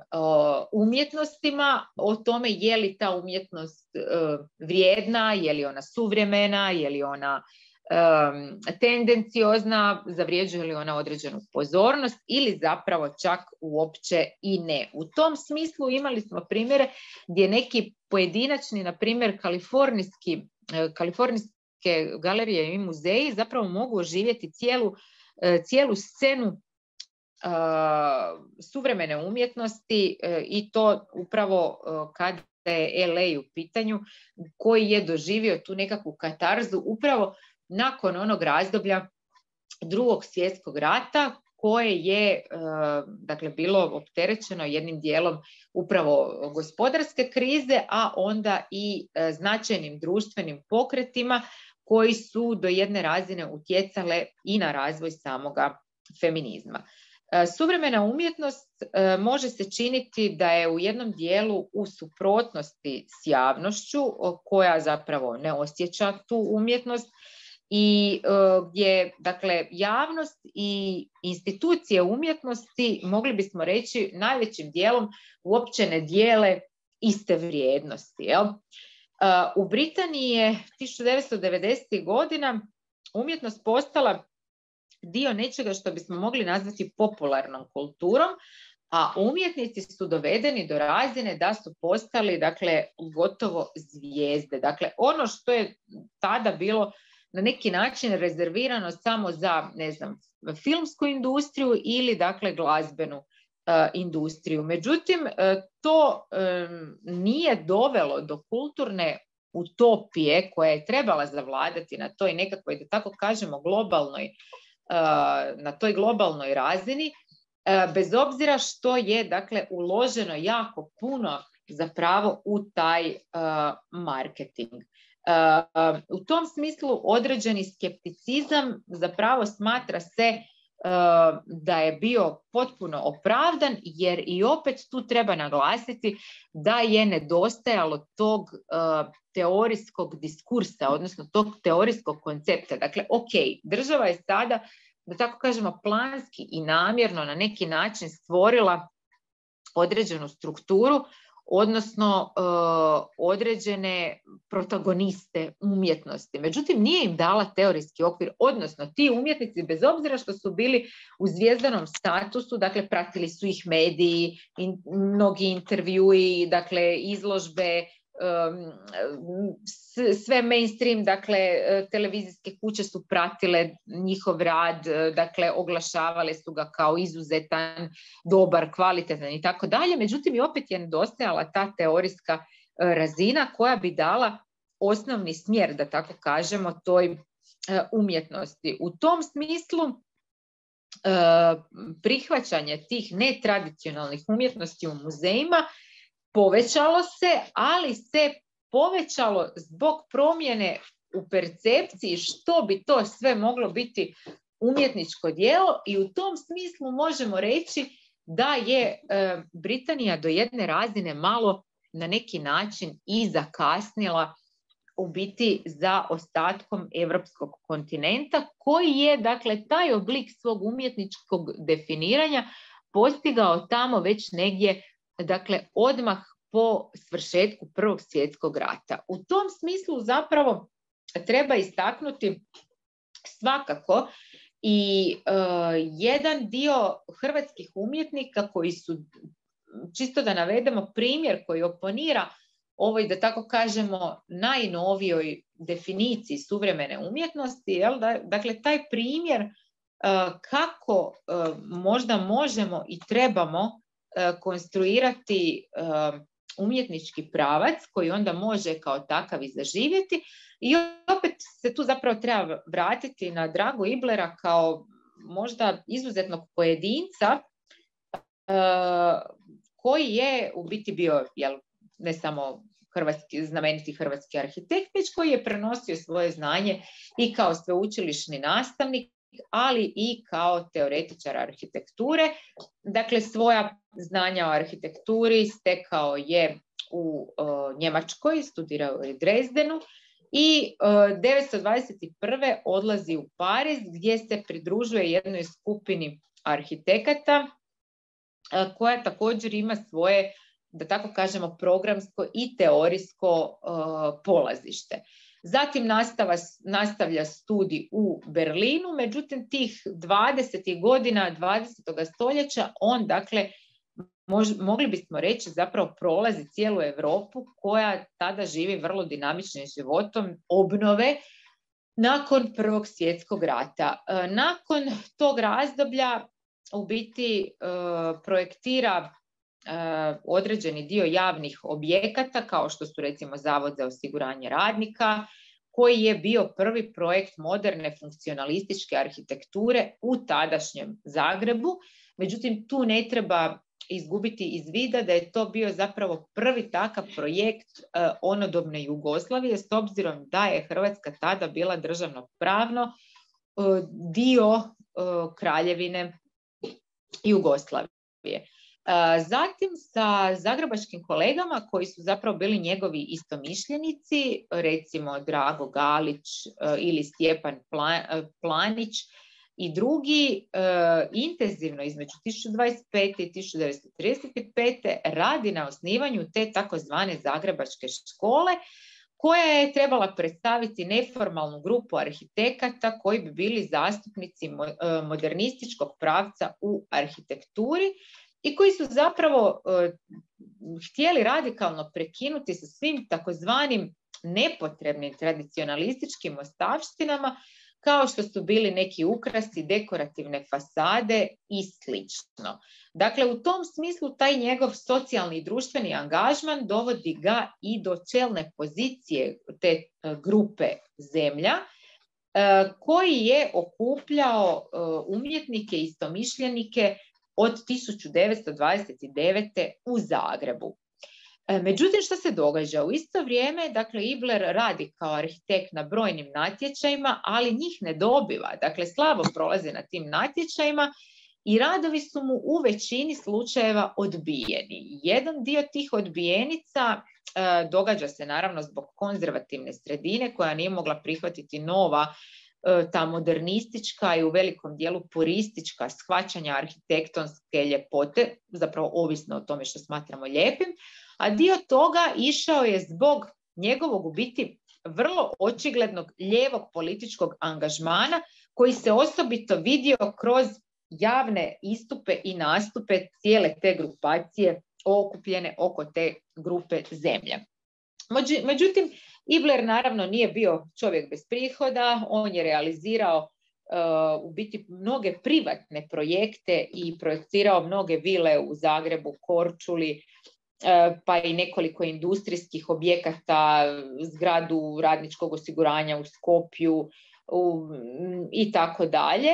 umjetnostima, o tome je li ta umjetnost uh, vrijedna, je li ona suvremena, je li ona Um, tendenciozna, zavređuje li ona određenu pozornost ili zapravo čak uopće i ne. U tom smislu imali smo primjere gdje neki pojedinačni, na primjer kalifornijski, kalifornijske galerije i muzeji zapravo mogu oživjeti cijelu, cijelu scenu uh, suvremene umjetnosti uh, i to upravo uh, kad je L A u pitanju, koji je doživio tu nekakvu katarzu upravo nakon onog razdoblja Drugog svjetskog rata, koje je dakle, bilo opterećeno jednim dijelom upravo gospodarske krize, a onda i značajnim društvenim pokretima koji su do jedne razine utjecale i na razvoj samoga feminizma. Suvremena umjetnost može se činiti da je u jednom dijelu u suprotnosti s javnošću, koja zapravo ne osjeća tu umjetnost, i uh, gdje, dakle, javnost i institucije umjetnosti, mogli bismo reći, najvećim dijelom uopće ne dijele iste vrijednosti. Jel? Uh, u Britaniji je tisuću devetsto devedesetih godina umjetnost postala dio nečega što bismo mogli nazvati popularnom kulturom, a umjetnici su dovedeni do razine da su postali, dakle, gotovo zvijezde. Dakle, ono što je tada bilo na neki način rezervirano samo za, ne znam, filmsku industriju ili, dakle, glazbenu uh, industriju. Međutim, uh, to um, nije dovelo do kulturne utopije koja je trebala zavladati na toj nekakvoj, da tako kažemo, globalnoj, uh, na toj globalnoj razini, uh, bez obzira što je, dakle, uloženo jako puno zapravo u taj uh, marketing. Uh, u tom smislu određeni skepticizam zapravo smatra se uh, da je bio potpuno opravdan, jer i opet tu treba naglasiti da je nedostajalo tog uh, teorijskog diskursa, odnosno tog teorijskog koncepta. Dakle, ok, država je sada da tako kažemo, planski i namjerno na neki način stvorila određenu strukturu, odnosno e, određene protagoniste umjetnosti. Međutim, nije im dala teorijski okvir, odnosno ti umjetnici, bez obzira što su bili u zvjezdanom statusu, dakle, pratili su ih mediji, in, mnogi intervjui, dakle, izložbe, sve mainstream, dakle, televizijske kuće su pratile njihov rad, dakle, oglašavale su ga kao izuzetan, dobar, kvalitetan i tako dalje. Međutim, i opet je nedostajala ta teorijska razina koja bi dala osnovni smjer, da tako kažemo, toj umjetnosti. U tom smislu prihvaćanje tih netradicionalnih umjetnosti u muzejima povećalo se, ali se povećalo zbog promjene u percepciji što bi to sve moglo biti umjetničko djelo, i u tom smislu možemo reći da je e, Britanija do jedne razine malo na neki način i zakasnila u biti za ostatkom europskog kontinenta, koji je, dakle, taj oblik svog umjetničkog definiranja postigao tamo već negdje, dakle, odmah po svršetku Prvog svjetskog rata. U tom smislu zapravo treba istaknuti svakako i uh, jedan dio hrvatskih umjetnika koji su, čisto da navedemo primjer koji oponira ovoj, da tako kažemo, najnovijoj definiciji suvremene umjetnosti, jel da, dakle, taj primjer uh, kako uh, možda možemo i trebamo konstruirati uh, umjetnički pravac koji onda može kao takav i zaživjeti. I opet se tu zapravo treba vratiti na Dragu Iblera kao možda izuzetnog pojedinca uh, koji je u biti bio, jel, ne samo hrvatski, znameniti hrvatski arhitekt, već koji je prenosio svoje znanje i kao sveučilišni nastavnik, ali i kao teoretičar arhitekture. Dakle, svoja znanja o arhitekturi stekao je u uh, Njemačkoj, studirao u Dresdenu i uh, devetsto dvadeset prve odlazi u Pariz, gdje se pridružuje jednoj skupini arhitekata uh, koja također ima svoje, da tako kažemo, programsko i teorijsko uh, polazište. Zatim nastava, nastavlja studij u Berlinu, međutim tih dvadesetih godina dvadesetog stoljeća on, dakle, mož, mogli bismo reći, zapravo prolazi cijelu Europu koja tada živi vrlo dinamičnim životom obnove nakon Prvog svjetskog rata. Nakon tog razdoblja u biti projektira određeni dio javnih objekata, kao što su recimo Zavod za osiguranje radnika, koji je bio prvi projekt moderne funkcionalističke arhitekture u tadašnjem Zagrebu. Međutim, tu ne treba izgubiti iz vida da je to bio zapravo prvi takav projekt uh, onodobne Jugoslavije, s obzirom da je Hrvatska tada bila državno pravno uh, dio uh, Kraljevine Jugoslavije. Zatim sa zagrebačkim kolegama koji su zapravo bili njegovi istomišljenici, recimo Drago Galić ili Stjepan Planić i drugi, intenzivno između tisuću dvadeset pete i tisuću devetsto trideset pete radi na osnivanju te takozvane zagrebačke škole, koja je trebala predstaviti neformalnu grupu arhitekata koji bi bili zastupnici modernističkog pravca u arhitekturi i koji su zapravo uh, htjeli radikalno prekinuti sa svim takozvanim nepotrebnim tradicionalističkim ostavštinama, kao što su bili neki ukrasi, dekorativne fasade i slično. Dakle, u tom smislu taj njegov socijalni i društveni angažman dovodi ga i do čelne pozicije te uh, grupe Zemlja, uh, koji je okupljao uh, umjetnike i istomišljenike od tisuću devetsto dvadeset devete u Zagrebu. Međutim, što se događa? U isto vrijeme, dakle, Ibler radi kao arhitekt na brojnim natječajima, ali njih ne dobiva. Dakle, slabo prolaze na tim natječajima i radovi su mu u većini slučajeva odbijeni. Jedan dio tih odbijenica e, događa se naravno zbog konzervativne sredine koja nije mogla prihvatiti nova ta modernistička i u velikom dijelu puristička shvaćanja arhitektonske ljepote, zapravo ovisno o tome što smatramo lijepim, a dio toga išao je zbog njegovog u biti vrlo očiglednog lijevog političkog angažmana koji se osobito vidio kroz javne istupe i nastupe cijele te grupacije okupljene oko te grupe zemlje. Međutim, Ibler naravno nije bio čovjek bez prihoda, on je realizirao uh, u biti mnoge privatne projekte i projecirao mnoge vile u Zagrebu, Korčuli, uh, pa i nekoliko industrijskih objekata, zgradu radničkog osiguranja u Skopju u, i tako dalje.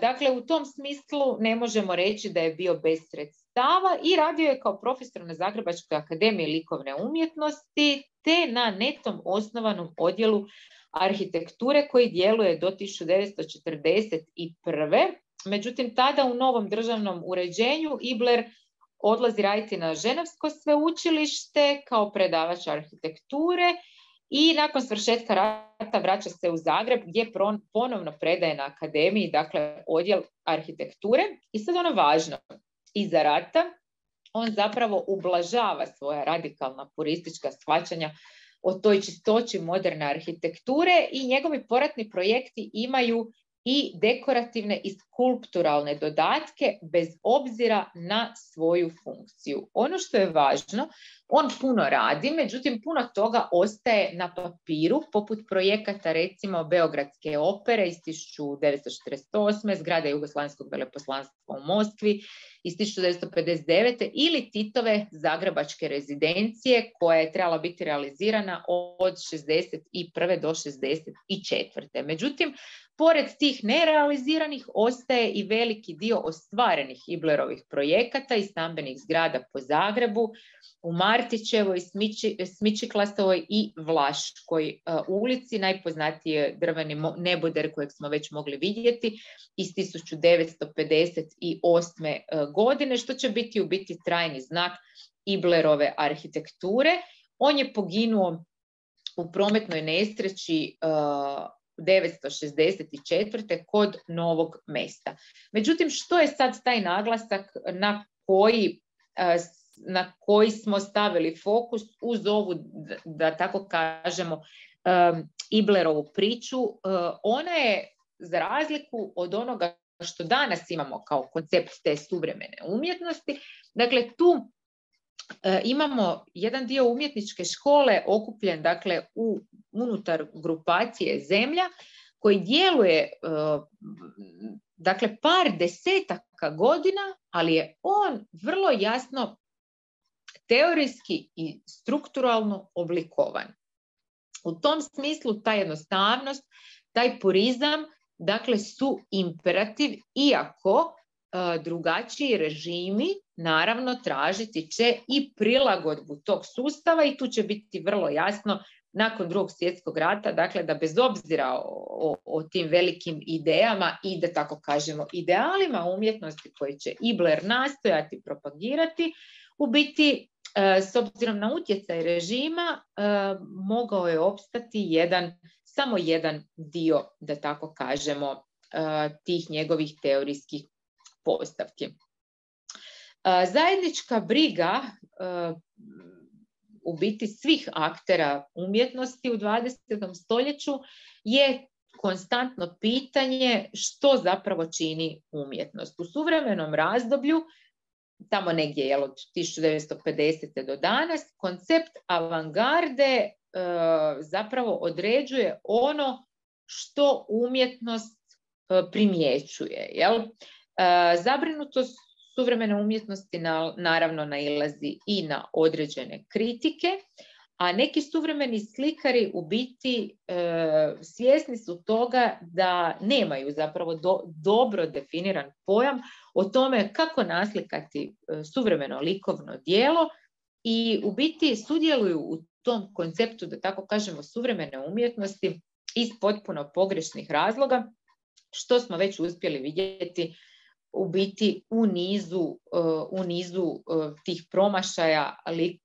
Dakle, u tom smislu ne možemo reći da je bio bez sredstava i radio je kao profesor na Zagrebačkoj akademiji likovne umjetnosti te na netom osnovanom odjelu arhitekture koji djeluje do tisuću devetsto četrdeset prve. Međutim, tada u novom državnom uređenju Ibler odlazi raditi na Ženevsko sveučilište kao predavač arhitekture i nakon svršetka rata vraća se u Zagreb gdje ponovno predaje na akademiji, dakle odjel arhitekture. I sad ono važno, iza rata on zapravo ublažava svoja radikalna puristička shvaćanja o toj čistoći moderne arhitekture i njegovi poratni projekti imaju i dekorativne i skulpturalne dodatke bez obzira na svoju funkciju. Ono što je važno, on puno radi, međutim puno toga ostaje na papiru, poput projekata recimo Beogradske opere iz tisuću devetsto četrdeset osme, zgrade Jugoslavenskog veleposlanstva u Moskvi iz tisuću devetsto pedeset devete ili Titove Zagrebačke rezidencije koja je trebala biti realizirana od šezdeset prve do šezdeset četvrte. Međutim, pored tih nerealiziranih ostaje i veliki dio ostvarenih Iblerovih projekata i stambenih zgrada po Zagrebu, u Martićevoj, Smiči, Smičiklasovoj i Vlaškoj uh, ulici, najpoznatiji drveni neboder kojeg smo već mogli vidjeti iz tisuću devetsto pedeset osme uh, godine, što će biti u biti trajni znak Iblerove arhitekture. On je poginuo u prometnoj nesreći uh, devetsto šezdeset četvrte kod Novog Mesta. Međutim, što je sad taj naglasak na koji, na koji smo stavili fokus uz ovu, da tako kažemo, Iblerovu priču? Ona je, za razliku od onoga što danas imamo kao koncept te suvremene umjetnosti, dakle tu imamo jedan dio umjetničke škole okupljen dakle u unutar grupacije Zemlja koji djeluje dakle par desetaka godina, ali je on vrlo jasno teorijski i strukturalno oblikovan. U tom smislu ta jednostavnost, taj purizam dakle su imperativ, iako drugačiji režimi naravno tražiti će i prilagodbu tog sustava i tu će biti vrlo jasno nakon Drugog svjetskog rata, dakle da bez obzira o, o tim velikim idejama i da tako kažemo idealima umjetnosti koje će Ibler nastojati propagirati, u biti s obzirom na utjecaj režima mogao je opstati jedan, samo jedan dio, da tako kažemo, tih njegovih teorijskih postavki. Zajednička briga u biti svih aktera umjetnosti u dvadesetom stoljeću je konstantno pitanje što zapravo čini umjetnost. U suvremenom razdoblju, tamo negdje je od tisuću devetsto pedesete do danas, koncept avangarde zapravo određuje ono što umjetnost primjećuje, jel? Zabrinutost suvremene umjetnosti na, naravno nailazi i na određene kritike, a neki suvremeni slikari u biti e, svjesni su toga da nemaju zapravo do, dobro definiran pojam o tome kako naslikati e, suvremeno likovno djelo i u biti sudjeluju u tom konceptu, da tako kažemo, suvremene umjetnosti iz potpuno pogrešnih razloga, što smo već uspjeli vidjeti u biti u nizu, u nizu tih promašaja,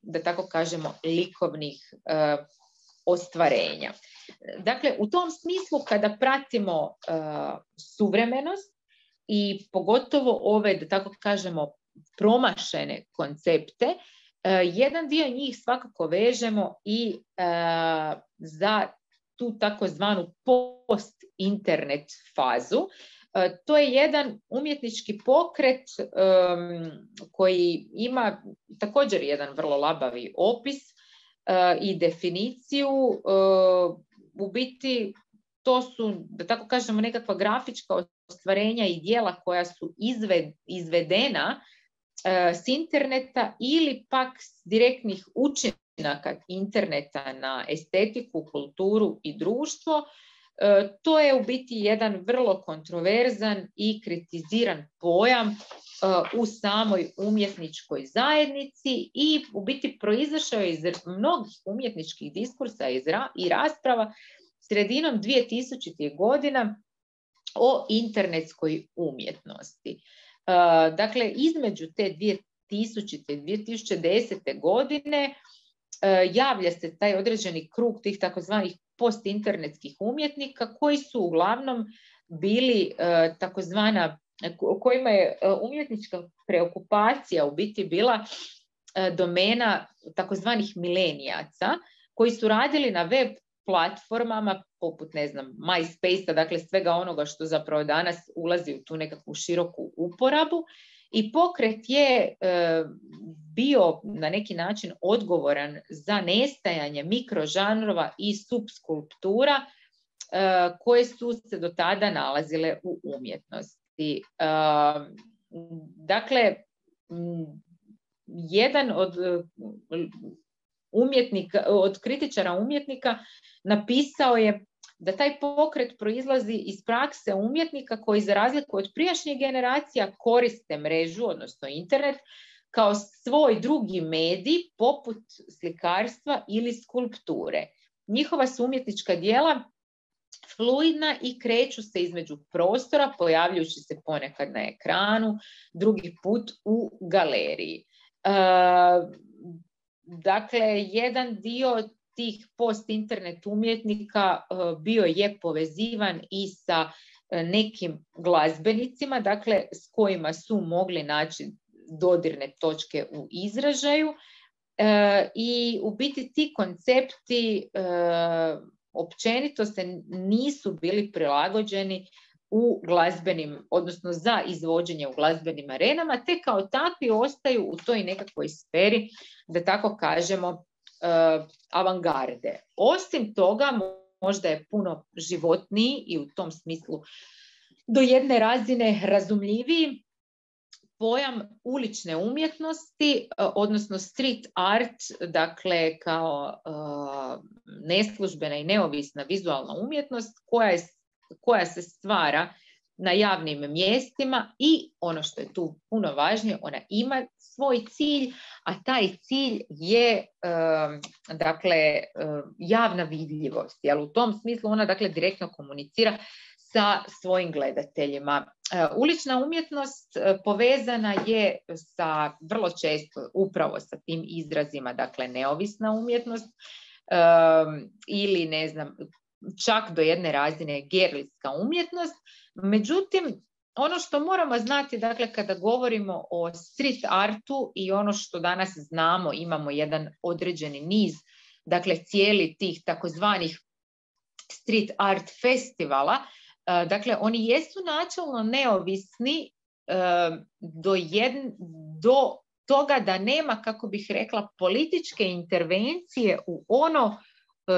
da tako kažemo, likovnih ostvarenja. Dakle, u tom smislu kada pratimo uh, suvremenost i pogotovo ove, da tako kažemo, promašene koncepte, uh, jedan dio njih svakako vežemo i uh, za tu takozvanu post-internet fazu. Uh, to je jedan umjetnički pokret um, koji ima također jedan vrlo labavi opis uh, i definiciju. Uh, u biti to su, da tako kažemo, nekakva grafička ostvarenja i djela koja su izved, izvedena uh, s interneta ili pak s direktnih učinaka interneta na estetiku, kulturu i društvo. Uh, to je u biti jedan vrlo kontroverzan i kritiziran pojam uh, u samoj umjetničkoj zajednici i u biti proizašao je iz mnogih umjetničkih diskursa iz ra- i rasprava sredinom dvije tisućitih godina o internetskoj umjetnosti. Uh, dakle, između te dvije tisućite i dvije tisuće desete godine uh, javlja se taj određeni krug tih takozvanih postinternetskih umjetnika koji su uglavnom bili uh, takozvana, kojima je uh, umjetnička preokupacija u biti bila uh, domena takozvanih milenijaca koji su radili na web platformama poput, ne znam, MySpace-a, dakle svega onoga što zapravo danas ulazi u tu nekakvu široku uporabu. I pokret je e, bio na neki način odgovoran za nestajanje mikrožanrova i subskulptura e, koje su se do tada nalazile u umjetnosti. E, dakle, m, jedan od umjetnika, od kritičara umjetnika napisao je da taj pokret proizlazi iz prakse umjetnika koji za razliku od prijašnjih generacija koriste mrežu, odnosno internet, kao svoj drugi medij poput slikarstva ili skulpture. Njihova su umjetnička djela fluidna i kreću se između prostora, pojavljujući se ponekad na ekranu, drugi put u galeriji. E, dakle, jedan dio tih post-internet umjetnika uh, bio je povezivan i sa uh, nekim glazbenicima, dakle s kojima su mogli naći dodirne točke u izražaju uh, i u biti ti koncepti uh, općenito se nisu bili prilagođeni u glazbenim, odnosno za izvođenje u glazbenim arenama, te kao takvi ostaju u toj nekakvoj sferi, da tako kažemo, Uh, avangarde. Osim toga, možda je puno životniji i u tom smislu do jedne razine razumljiviji pojam ulične umjetnosti, uh, odnosno street art, dakle kao uh, neslužbena i neovisna vizualna umjetnost koja, je, koja se stvara na javnim mjestima i ono što je tu puno važnije, ona ima svoj cilj, a taj cilj je um, dakle um, javna vidljivost. Jel? U tom smislu ona dakle direktno komunicira sa svojim gledateljima. Uh, ulična umjetnost uh, povezana je sa vrlo često upravo sa tim izrazima, dakle neovisna umjetnost um, ili ne znam, čak do jedne razine gerilska umjetnost. Međutim, ono što moramo znati, dakle, kada govorimo o street artu i ono što danas znamo, imamo jedan određeni niz, dakle, cijeli tih takozvanih street art festivala, dakle, oni jesu načelno neovisni do, jedn, do toga da nema, kako bih rekla, političke intervencije u ono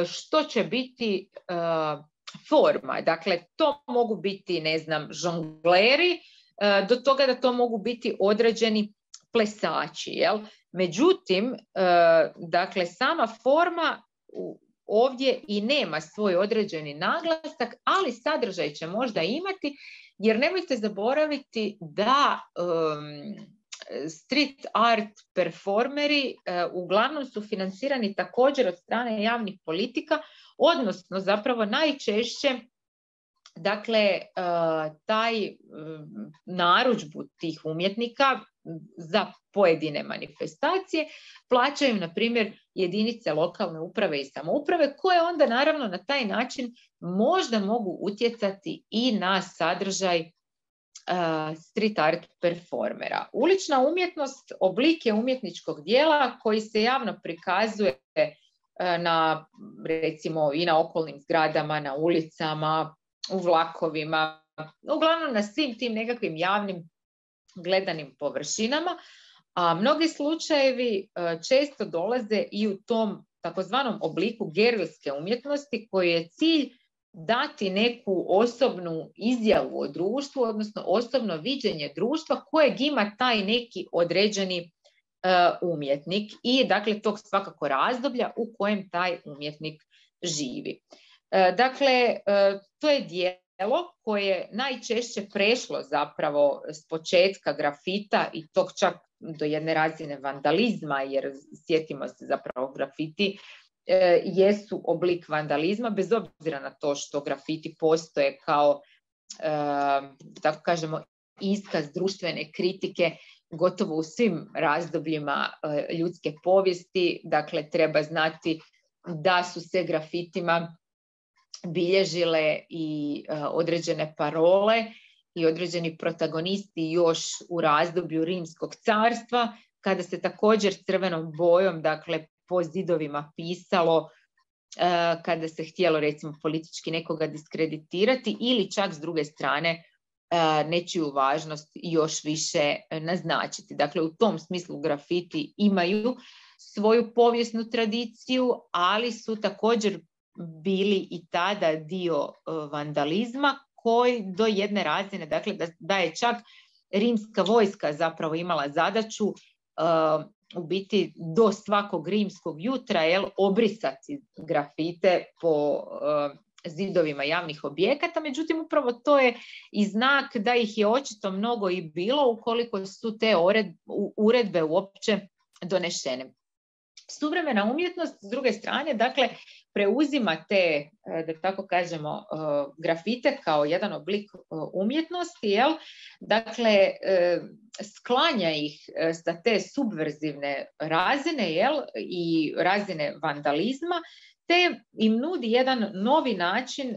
što će biti uh, forma. Dakle, to mogu biti, ne znam, žongleri, uh, do toga da to mogu biti određeni plesači. Jel? Međutim, uh, dakle, sama forma uh, ovdje i nema svoj određeni naglasak, ali sadržaj će možda imati, jer nemojte zaboraviti da um, street art performeri uh, uglavnom su financirani također od strane javnih politika, odnosno zapravo najčešće dakle uh, taj uh, narudžbu tih umjetnika za pojedine manifestacije plaćaju, na primjer, jedinice lokalne uprave i samouprave, koje onda naravno na taj način možda mogu utjecati i na sadržaj uh, street art performera. Ulična umjetnost oblik je umjetničkog dijela koji se javno prikazuje uh, na, recimo, i na okolnim zgradama, na ulicama, u vlakovima, uglavnom na svim tim nekakvim javnim gledanim površinama, a mnogi slučajevi uh, često dolaze i u tom takozvanom obliku gerilske umjetnosti, koji je cilj dati neku osobnu izjavu o društvu, odnosno osobno viđenje društva kojeg ima taj neki određeni uh, umjetnik i dakle tog svakako razdoblja u kojem taj umjetnik živi. Uh, dakle, uh, to je djelo koje je najčešće prešlo zapravo s početka grafita i tog čak do jedne razine vandalizma, jer sjetimo se zapravo grafiti e, jesu oblik vandalizma, bez obzira na to što grafiti postoje kao, e, tako kažemo, iskaz društvene kritike gotovo u svim razdobljima e, ljudske povijesti. Dakle, treba znati da su se grafitima bilježile i e, određene parole i određeni protagonisti još u razdoblju Rimskog carstva, kada se također crvenom bojom, dakle, po zidovima pisalo, uh, kada se htjelo, recimo, politički nekoga diskreditirati ili čak s druge strane uh, nečiju važnost još više naznačiti. Dakle, u tom smislu grafiti imaju svoju povijesnu tradiciju, ali su također bili i tada dio uh, vandalizma, koji do jedne razine, dakle da, da je čak rimska vojska zapravo imala zadaću uh, u biti do svakog rimskog jutra, jel, obrisati grafite po uh, zidovima javnih objekata, međutim upravo to je i znak da ih je očito mnogo i bilo ukoliko su te uredbe uopće donešene. Suvremena umjetnost, s druge strane, dakle, preuzima te, da tako kažemo, grafite kao jedan oblik umjetnosti, jel? Dakle, sklanja ih sa te subverzivne razine, jel? I razine vandalizma, te im nudi jedan novi način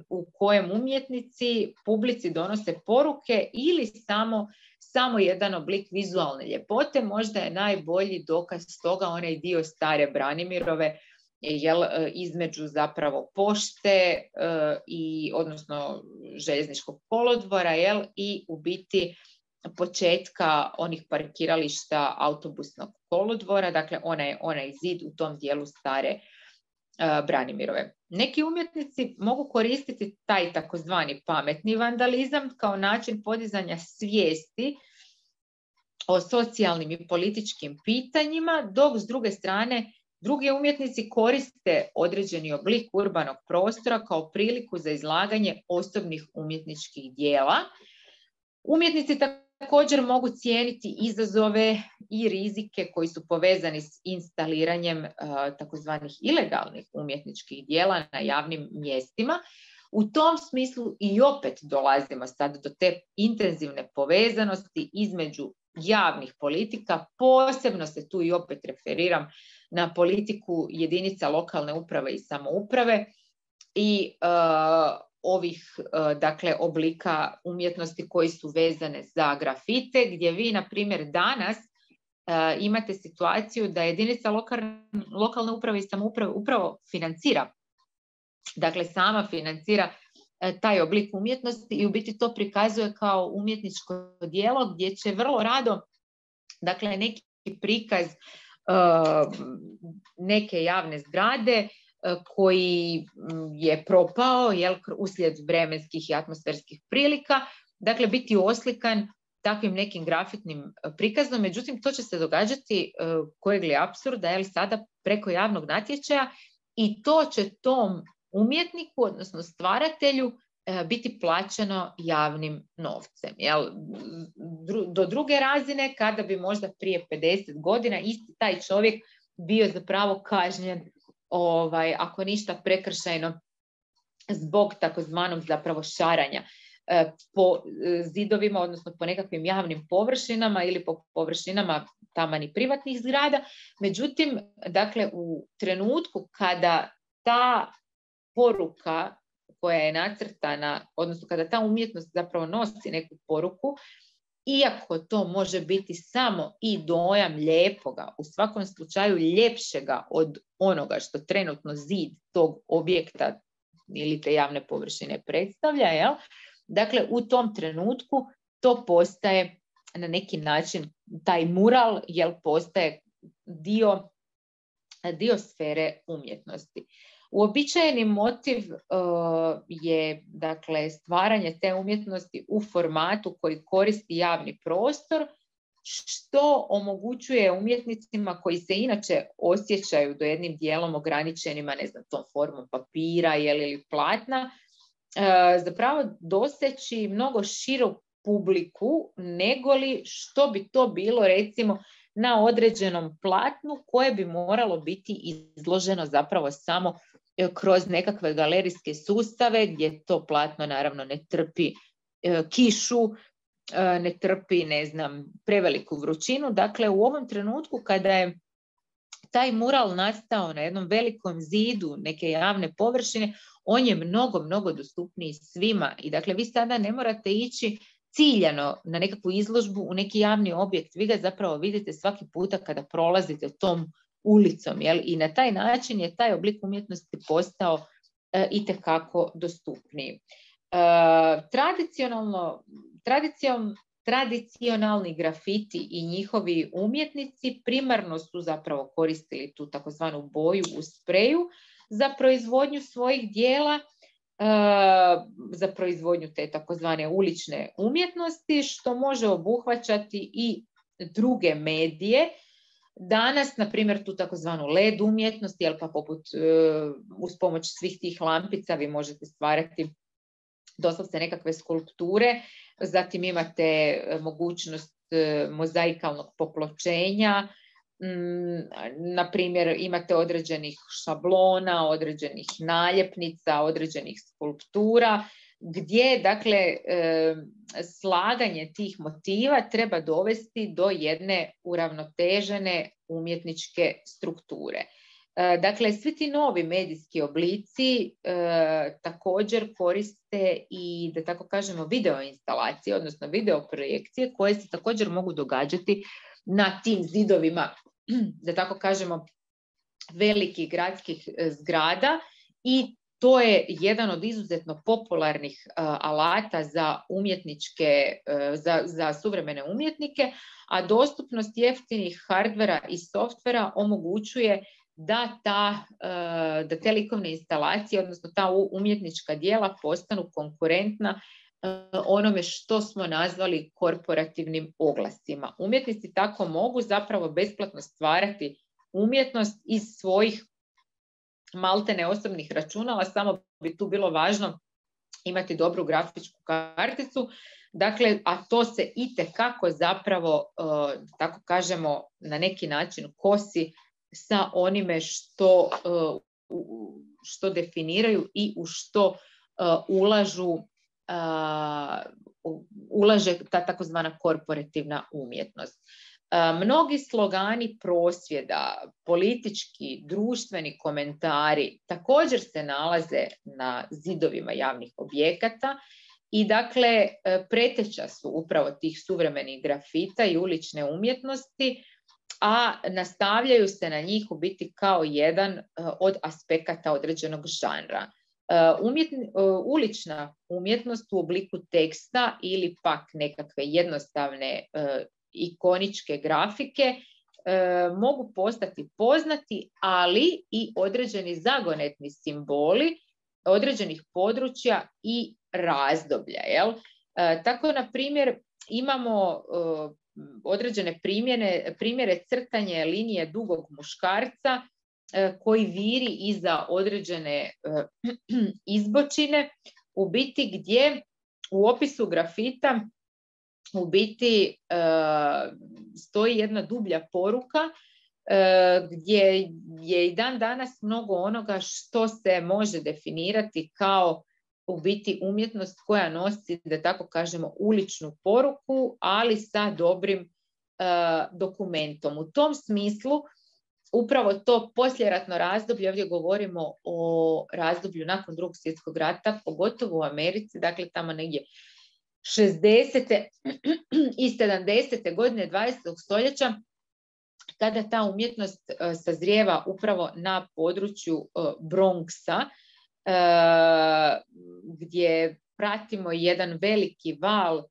u kojem umjetnici publici donose poruke ili samo samo jedan oblik vizualne ljepote. Možda je najbolji dokaz toga onaj dio stare Branimirove, jel, između zapravo pošte i odnosno željezničkog kolodvora, jel, i u biti početka onih parkirališta autobusnog kolodvora, dakle onaj, onaj zid u tom dijelu stare Branimirove. Neki umjetnici mogu koristiti taj takozvani pametni vandalizam kao način podizanja svijesti o socijalnim i političkim pitanjima, dok s druge strane drugi umjetnici koriste određeni oblik urbanog prostora kao priliku za izlaganje osobnih umjetničkih dijela. Umjetnici također mogu cijeniti izazove i rizike koji su povezani s instaliranjem uh, takozvanih ilegalnih umjetničkih dijela na javnim mjestima. U tom smislu i opet dolazimo sad do te intenzivne povezanosti između javnih politika, posebno se tu i opet referiram na politiku jedinica lokalne uprave i samouprave i uh, ovih dakle oblika umjetnosti koji su vezane za grafite, gdje vi na primjer danas uh, imate situaciju da jedinica lokalne, lokalne uprave i samouprave upravo financira, dakle sama financira uh, taj oblik umjetnosti i u biti to prikazuje kao umjetničko djelo gdje će vrlo rado, dakle, neki prikaz uh, neke javne zgrade koji je propao, jel, uslijed vremenskih i atmosferskih prilika, dakle biti oslikan takvim nekim grafitnim prikazom. Međutim, to će se događati, kojeg li apsurda, jel, sada preko javnog natječaja, i to će tom umjetniku, odnosno stvaratelju, biti plaćeno javnim novcem. Jel? Do druge razine, kada bi možda prije pedeset godina isti taj čovjek bio zapravo kažnjen, Ovaj, ako ništa prekršajno, zbog takozvanog zapravo šaranja po zidovima, odnosno po nekakvim javnim površinama ili po površinama taman i privatnih zgrada. Međutim, dakle, u trenutku kada ta poruka koja je nacrtana, odnosno kada ta umjetnost zapravo nosi neku poruku, iako to može biti samo i dojam lijepoga, u svakom slučaju ljepšega od onoga što trenutno zid tog objekta ili te javne površine predstavlja, jel? Dakle, u tom trenutku to postaje na neki način, taj mural, jel, postaje dio, dio sfere umjetnosti. Uobičajeni motiv uh, je, dakle, stvaranje te umjetnosti u formatu koji koristi javni prostor, što omogućuje umjetnicima koji se inače osjećaju do jednim dijelom ograničenima, ne znam, tom formom papira ili platna, uh, zapravo doseći mnogo širu publiku negoli što bi to bilo, recimo, na određenom platnu koje bi moralo biti izloženo zapravo samo kroz nekakve galerijske sustave gdje to platno naravno ne trpi e, kišu, e, ne trpi, ne znam, preveliku vrućinu. Dakle, u ovom trenutku kada je taj mural nastao na jednom velikom zidu neke javne površine, on je mnogo, mnogo dostupniji svima. I dakle, vi sada ne morate ići ciljano na nekakvu izložbu u neki javni objekt. Vi ga zapravo vidite svaki puta kada prolazite tom ulicom, jel? I na taj način je taj oblik umjetnosti postao e, itekako dostupniji. E, tradicionalno, tradicion, tradicionalni grafiti i njihovi umjetnici primarno su zapravo koristili tu takozvanu boju u spreju za proizvodnju svojih dijela, za proizvodnju te takozvane ulične umjetnosti, što može obuhvaćati i druge medije. Danas, na primjer, tu takozvanu led umjetnost, jel pa poput uz pomoć svih tih lampica vi možete stvarati doslovce nekakve skulpture, zatim imate mogućnost mozaikalnog popločenja, na primjer imate određenih šablona, određenih naljepnica, određenih skulptura, gdje dakle slaganje tih motiva treba dovesti do jedne uravnotežene umjetničke strukture. Dakle, svi ti novi medijski oblici također koriste i, da tako kažemo, video instalacije, odnosno video projekcije koje se također mogu događati na tim zidovima, da tako kažemo, velikih gradskih zgrada, i to je jedan od izuzetno popularnih uh, alata za umjetničke, uh, za, za suvremene umjetnike, a dostupnost jeftinih hardvera i softvera omogućuje da, ta, uh, da te likovne instalacije, odnosno ta umjetnička djela postanu konkurentna uh, onome što smo nazvali korporativnim oglasima. Umjetnici tako mogu zapravo besplatno stvarati umjetnost iz svojih maltene osobnih računala, samo bi tu bilo važno imati dobru grafičku karticu, dakle, a to se itekako zapravo, uh, tako kažemo, na neki način kosi sa onime što, uh, što definiraju i u što uh, ulažu, uh, ulaže ta takozvana korporativna umjetnost. Mnogi slogani prosvjeda, politički, društveni komentari također se nalaze na zidovima javnih objekata i dakle preteča su upravo tih suvremenih grafita i ulične umjetnosti, a nastavljaju se na njih u biti kao jedan od aspekata određenog žanra. Umjetni, ulična umjetnost u obliku teksta ili pak nekakve jednostavne ikoničke grafike e, mogu postati poznati, ali i određeni zagonetni simboli određenih područja i razdoblja. Jel? E, tako, na primjer, imamo e, određene primjene, primjere crtanje linije dugog muškarca e, koji viri iza određene e, izbočine, u biti gdje u opisu grafita u biti uh, stoji jedna dublja poruka uh, gdje je i dan danas mnogo onoga što se može definirati kao u biti umjetnost koja nosi, da tako kažemo, uličnu poruku, ali sa dobrim uh, dokumentom. U tom smislu, upravo to poslijeratno razdoblje, ovdje govorimo o razdoblju nakon Drugog svjetskog rata, pogotovo u Americi, dakle tamo negdje šezdesete i sedamdesete godine dvadesetog stoljeća, kada ta umjetnost uh, sazrijeva upravo na području uh, Bronxa, uh, gdje pratimo jedan veliki val uh,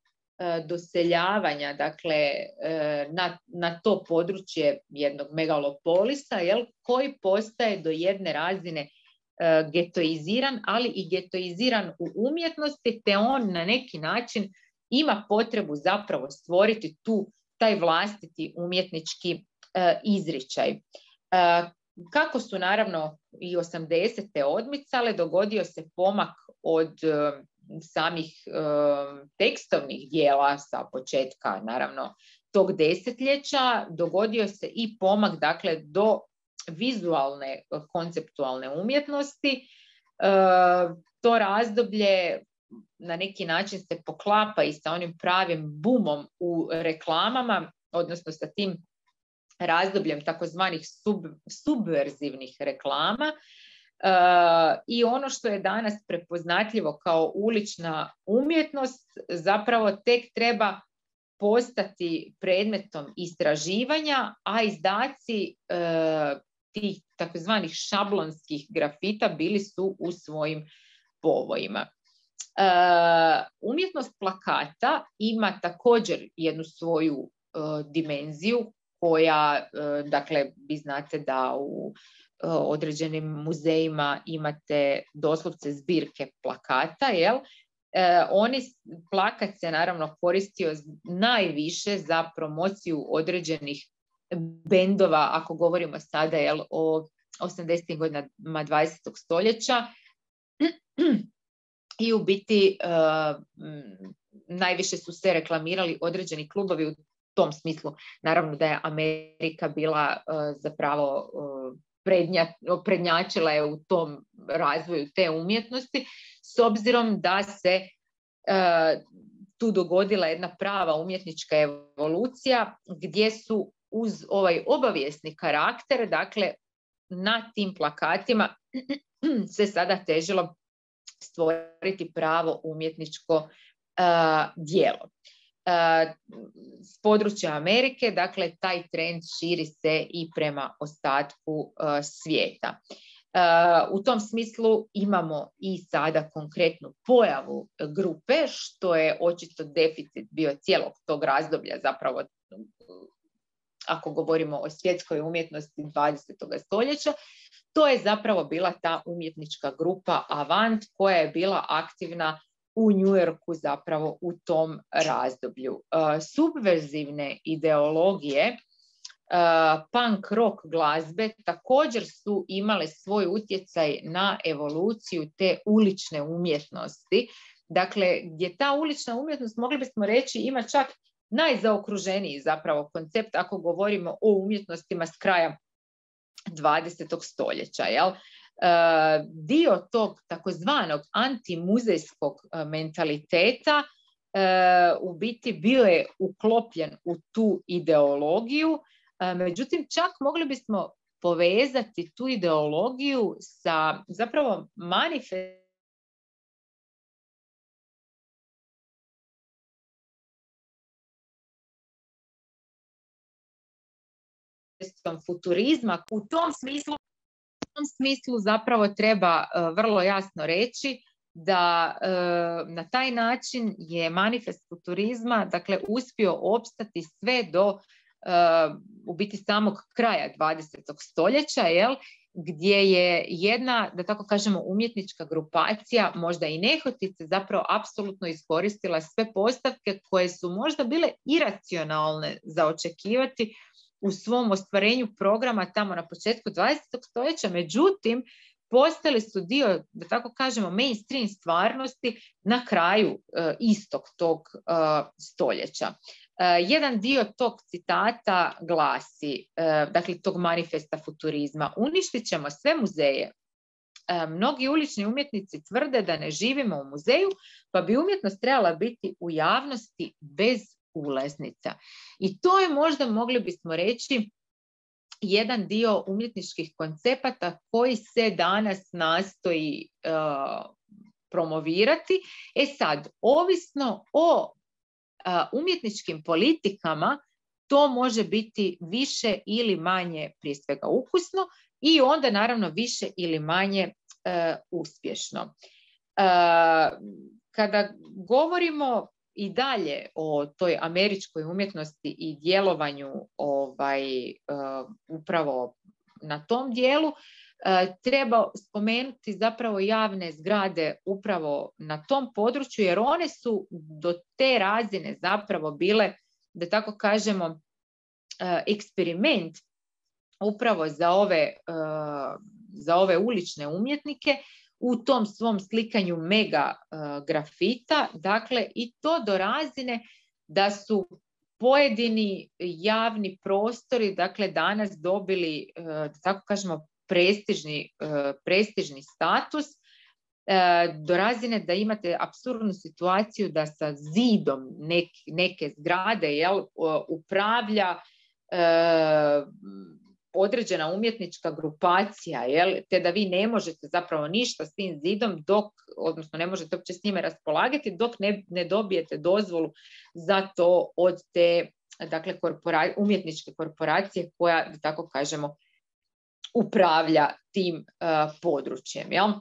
doseljavanja, dakle, uh, na, na to područje jednog megalopolisa, jel, koji postaje do jedne razine uh, getoiziran, ali i getoiziran u umjetnosti, te on na neki način ima potrebu zapravo stvoriti tu taj vlastiti umjetnički izričaj. Kako su naravno i osamdesete odmicale, dogodio se pomak od samih tekstovnih dijela sa početka naravno tog desetljeća, dogodio se i pomak, dakle, do vizualne konceptualne umjetnosti. To razdoblje na neki način se poklapa i sa onim pravim bumom u reklamama, odnosno sa tim razdobljem takozvanih sub, subverzivnih reklama. Uh, I ono što je danas prepoznatljivo kao ulična umjetnost zapravo tek treba postati predmetom istraživanja, a izdaci uh, tih takozvanih šablonskih grafita bili su u svojim povojima. Uh, umjetnost plakata ima također jednu svoju uh, dimenziju koja, dakle, vi znate da u određenim muzejima imate doslovce zbirke plakata, jel? E, oni, plakat se naravno koristio najviše za promociju određenih bendova, ako govorimo sada, jel, o osamdesetim godinama dvadesetog stoljeća, i u biti e, najviše su se reklamirali određeni klubovi. U tom smislu, naravno da je Amerika bila uh, zapravo uh, prednja, prednjačila je u tom razvoju te umjetnosti, s obzirom da se uh, tu dogodila jedna prava umjetnička evolucija, gdje su uz ovaj obavijesni karakter, dakle, na tim plakatima se sada težilo stvoriti pravo umjetničko uh, djelo. S područja Amerike, dakle, taj trend širi se i prema ostatku uh, svijeta. Uh, u tom smislu imamo i sada konkretnu pojavu grupe, što je očito deficit bio cijelog tog razdoblja, zapravo ako govorimo o svjetskoj umjetnosti dvadesetog stoljeća, to je zapravo bila ta umjetnička grupa Avant, koja je bila aktivna u New Yorku zapravo u tom razdoblju. Uh, subverzivne ideologije uh, punk rock glazbe također su imale svoj utjecaj na evoluciju te ulične umjetnosti. Dakle, gdje ta ulična umjetnost, mogli bismo reći, ima čak najzaokruženiji zapravo koncept ako govorimo o umjetnostima s kraja dvadesetog stoljeća, jel? Uh, dio tog takozvanog antimuzejskog uh, mentaliteta uh, u biti bio je uklopljen u tu ideologiju, uh, međutim čak mogli bismo povezati tu ideologiju sa zapravo manifestom futurizma. U tom smislu U tom smislu zapravo treba uh, vrlo jasno reći da uh, na taj način je manifest futurizma, dakle, uspio opstati sve do uh, u biti samog kraja dvadesetog stoljeća, jel, gdje je jedna, da tako kažemo, umjetnička grupacija, možda i nehotice, zapravo apsolutno iskoristila sve postavke koje su možda bile iracionalne za očekivati u svom ostvarenju programa tamo na početku dvadesetog stoljeća, međutim, postali su dio, da tako kažemo, mainstream stvarnosti na kraju uh, istog tog uh, stoljeća. Uh, jedan dio tog citata glasi, uh, dakle, tog manifesta futurizma: uništit ćemo sve muzeje, Mnogi ulični umjetnici tvrde da ne živimo u muzeju, pa bi umjetnost trebala biti u javnosti bez ulaznica. I to je možda, mogli bismo reći, jedan dio umjetničkih koncepata koji se danas nastoji uh, promovirati. E sad, ovisno o uh, umjetničkim politikama, to može biti više ili manje prije svega ukusno i onda naravno više ili manje uh, uspješno. Uh, kada govorimo i dalje o toj američkoj umjetnosti i djelovanju ovaj, uh, upravo na tom dijelu, uh, treba spomenuti zapravo javne zgrade upravo na tom području, jer one su do te razine zapravo bile, da tako kažemo, uh, eksperiment upravo za ove, uh, za ove ulične umjetnike u tom svom slikanju mega uh, grafita, dakle i to do razine da su pojedini javni prostori, dakle danas dobili, uh, da tako kažemo, prestižni, uh, prestižni status, uh, do razine da imate apsurdnu situaciju da sa zidom nek, neke zgrade jel, uh, upravlja uh, određena umjetnička grupacija, jel, te da vi ne možete zapravo ništa s tim zidom, dok, odnosno ne možete uopće s njime raspolagati, dok ne, ne dobijete dozvolu za to od te, dakle, korpora, umjetničke korporacije koja, da tako kažemo, upravlja tim uh, područjem. Jel? Uh,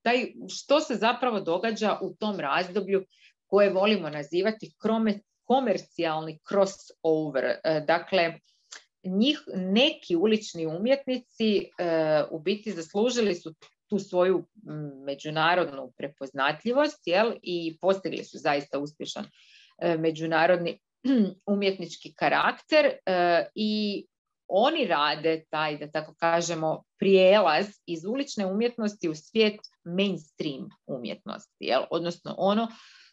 taj, što se zapravo događa u tom razdoblju koje volimo nazivati komercijalni crossover, uh, dakle, njih neki ulični umjetnici e, u biti zaslužili su tu svoju međunarodnu prepoznatljivost, jel, i postigli su zaista uspješan e, međunarodni umjetnički karakter e, i oni rade taj, da tako kažemo, prijelaz iz ulične umjetnosti u svijet mainstream umjetnosti, jel, odnosno ono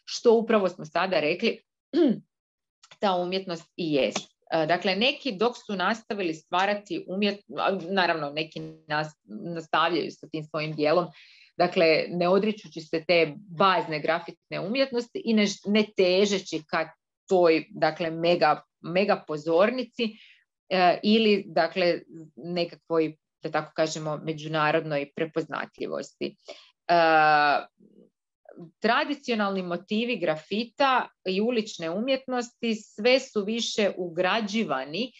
što upravo smo sada rekli ta umjetnost i jest. Dakle, neki dok su nastavili stvarati umjetnost, naravno neki nas, nastavljaju sa tim svojim dijelom, dakle, ne odričući se te bazne grafitne umjetnosti i ne, ne težeći ka toj, dakle, mega, mega pozornici eh, ili, dakle, nekakvoj, da tako kažemo, međunarodnoj prepoznatljivosti. Eh, Tradicionalni motivi grafita i ulične umjetnosti sve su više ugrađivani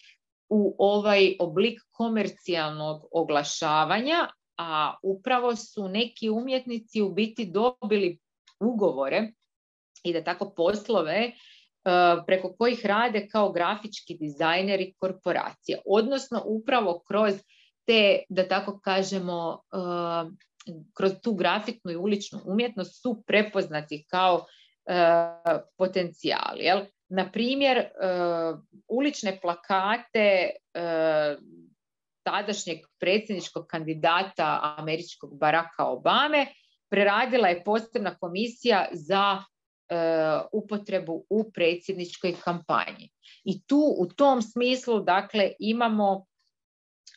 u ovaj oblik komercijalnog oglašavanja, a upravo su neki umjetnici u biti dobili ugovore i da tako poslove preko kojih rade kao grafički dizajneri korporacije, odnosno upravo kroz te, da tako kažemo, kroz tu grafitnu i uličnu umjetnost su prepoznati kao uh, potencijali. Jel? Na primjer, uh, ulične plakate uh, tadašnjeg predsjedničkog kandidata američkog Baracka Obame preradila je posebna komisija za uh, upotrebu u predsjedničkoj kampanji. I tu u tom smislu, dakle, imamo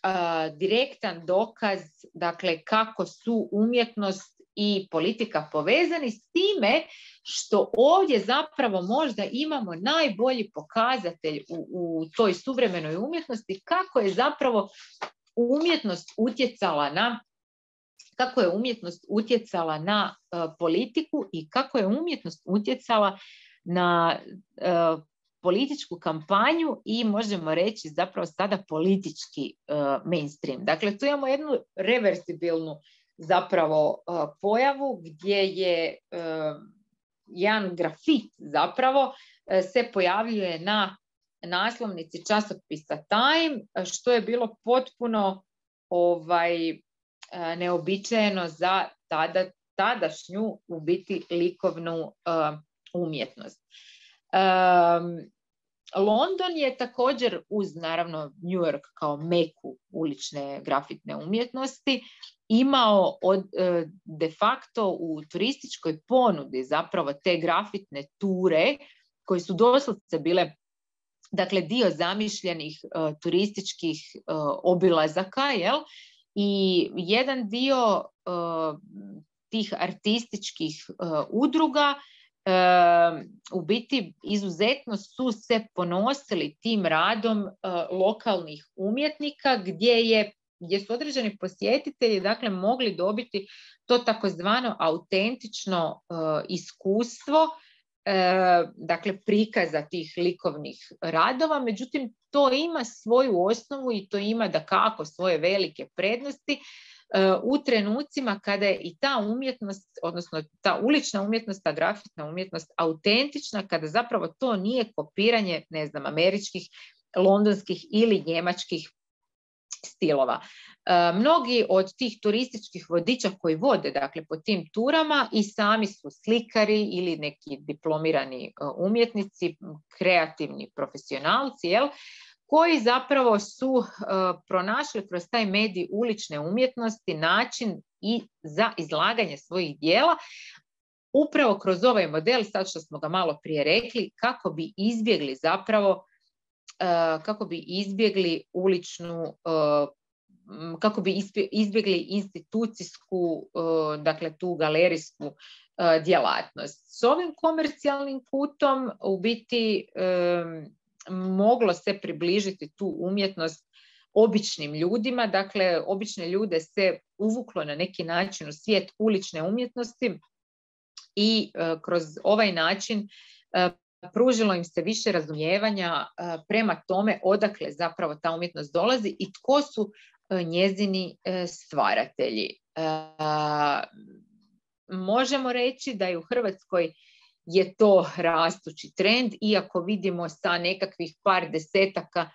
Uh, direktan dokaz, dakle, kako su umjetnost i politika povezani, s time što ovdje zapravo možda imamo najbolji pokazatelj u, u toj suvremenoj umjetnosti kako je zapravo umjetnost utjecala na kako je umjetnost utjecala na uh, politiku i kako je umjetnost utjecala na uh, političku kampanju i možemo reći zapravo sada politički uh, mainstream. Dakle, tu imamo jednu reversibilnu zapravo uh, pojavu gdje je uh, jedan grafit zapravo uh, se pojavljuje na naslovnici časopisa Time, što je bilo potpuno ovaj, uh, neobičajeno za tada, tadašnju u biti likovnu uh, umjetnost. Um, London je također uz naravno New York kao meku ulične grafitne umjetnosti imao od, de facto u turističkoj ponudi zapravo te grafitne ture koje su doslovce bile, dakle, dio zamišljenih uh, turističkih uh, obilazaka, jel? i jedan dio uh, tih artističkih uh, udruga uh, u biti izuzetno su se ponosili tim radom uh, lokalnih umjetnika gdje je gdje su određeni posjetitelji dakle mogli dobiti to takozvano autentično uh, iskustvo, uh, dakle prikaza tih likovnih radova, međutim to ima svoju osnovu i to ima dakako svoje velike prednosti uh, u trenucima kada je i ta umjetnost, odnosno ta ulična umjetnost, ta grafitna umjetnost autentična, kada zapravo to nije kopiranje, ne znam, američkih, londonskih ili njemačkih stilova. E, mnogi od tih turističkih vodiča koji vode dakle po tim turama i sami su slikari ili neki diplomirani uh, umjetnici, kreativni profesionalci, jel, koji zapravo su uh, pronašli kroz taj medij ulične umjetnosti način i za izlaganje svojih dijela upravo kroz ovaj model, sad što smo ga malo prije rekli, kako bi izbjegli zapravo Uh, kako bi izbjegli uličnu, uh, kako bi izbjegli institucijsku, uh, dakle tu galerijsku uh, djelatnost. S ovim komercijalnim putom u biti um, moglo se približiti tu umjetnost običnim ljudima, dakle obične ljude se uvuklo na neki način u svijet ulične umjetnosti i uh, kroz ovaj način uh, pružilo im se više razumijevanja prema tome odakle zapravo ta umjetnost dolazi i tko su njezini stvaratelji. Možemo reći da je u Hrvatskoj je to rastući trend, iako vidimo sa nekakvih par desetaka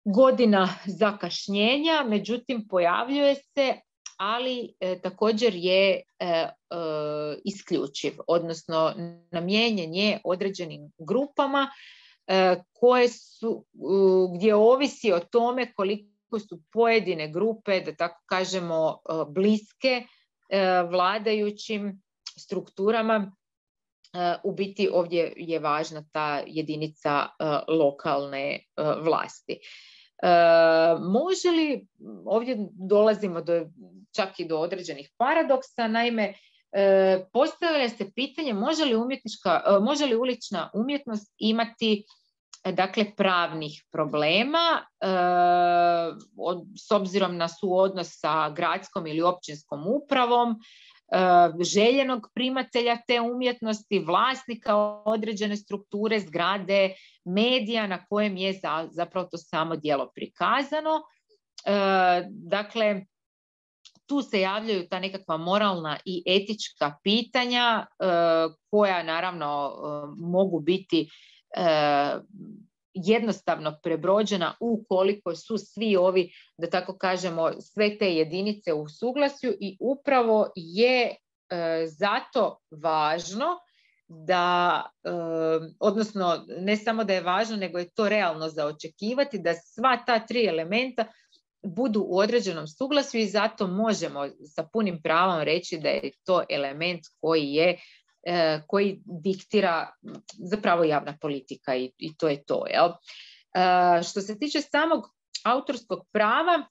godina zakašnjenja, međutim pojavljuje se, ali e, također je e, e, isključiv, odnosno namijenjen je određenim grupama e, koje su, e, gdje ovisi o tome koliko su pojedine grupe, da tako kažemo, e, bliske e, vladajućim strukturama. E, u biti ovdje je važna ta jedinica e, lokalne e, vlasti. E, može li, ovdje dolazimo do, čak i do određenih paradoksa, naime, e, postavlja se pitanje može li, umjetnička, e, može li ulična umjetnost imati e, dakle, pravnih problema e, od, s obzirom na suodnos sa gradskom ili općinskom upravom, željenog primatelja te umjetnosti, vlasnika određene strukture, zgrade, medija na kojem je zapravo to samo djelo prikazano. Dakle, tu se javljaju ta nekakva moralna i etička pitanja koja naravno mogu biti jednostavno prebrođena ukoliko su svi ovi, da tako kažemo, sve te jedinice u suglasju i upravo je e, zato važno da, e, odnosno ne samo da je važno, nego je to realno za očekivati da sva ta tri elementa budu u određenom suglasju i zato možemo sa punim pravom reći da je to element koji je koji diktira zapravo javna politika i, i to je to. Jel? E, što se tiče samog autorskog prava,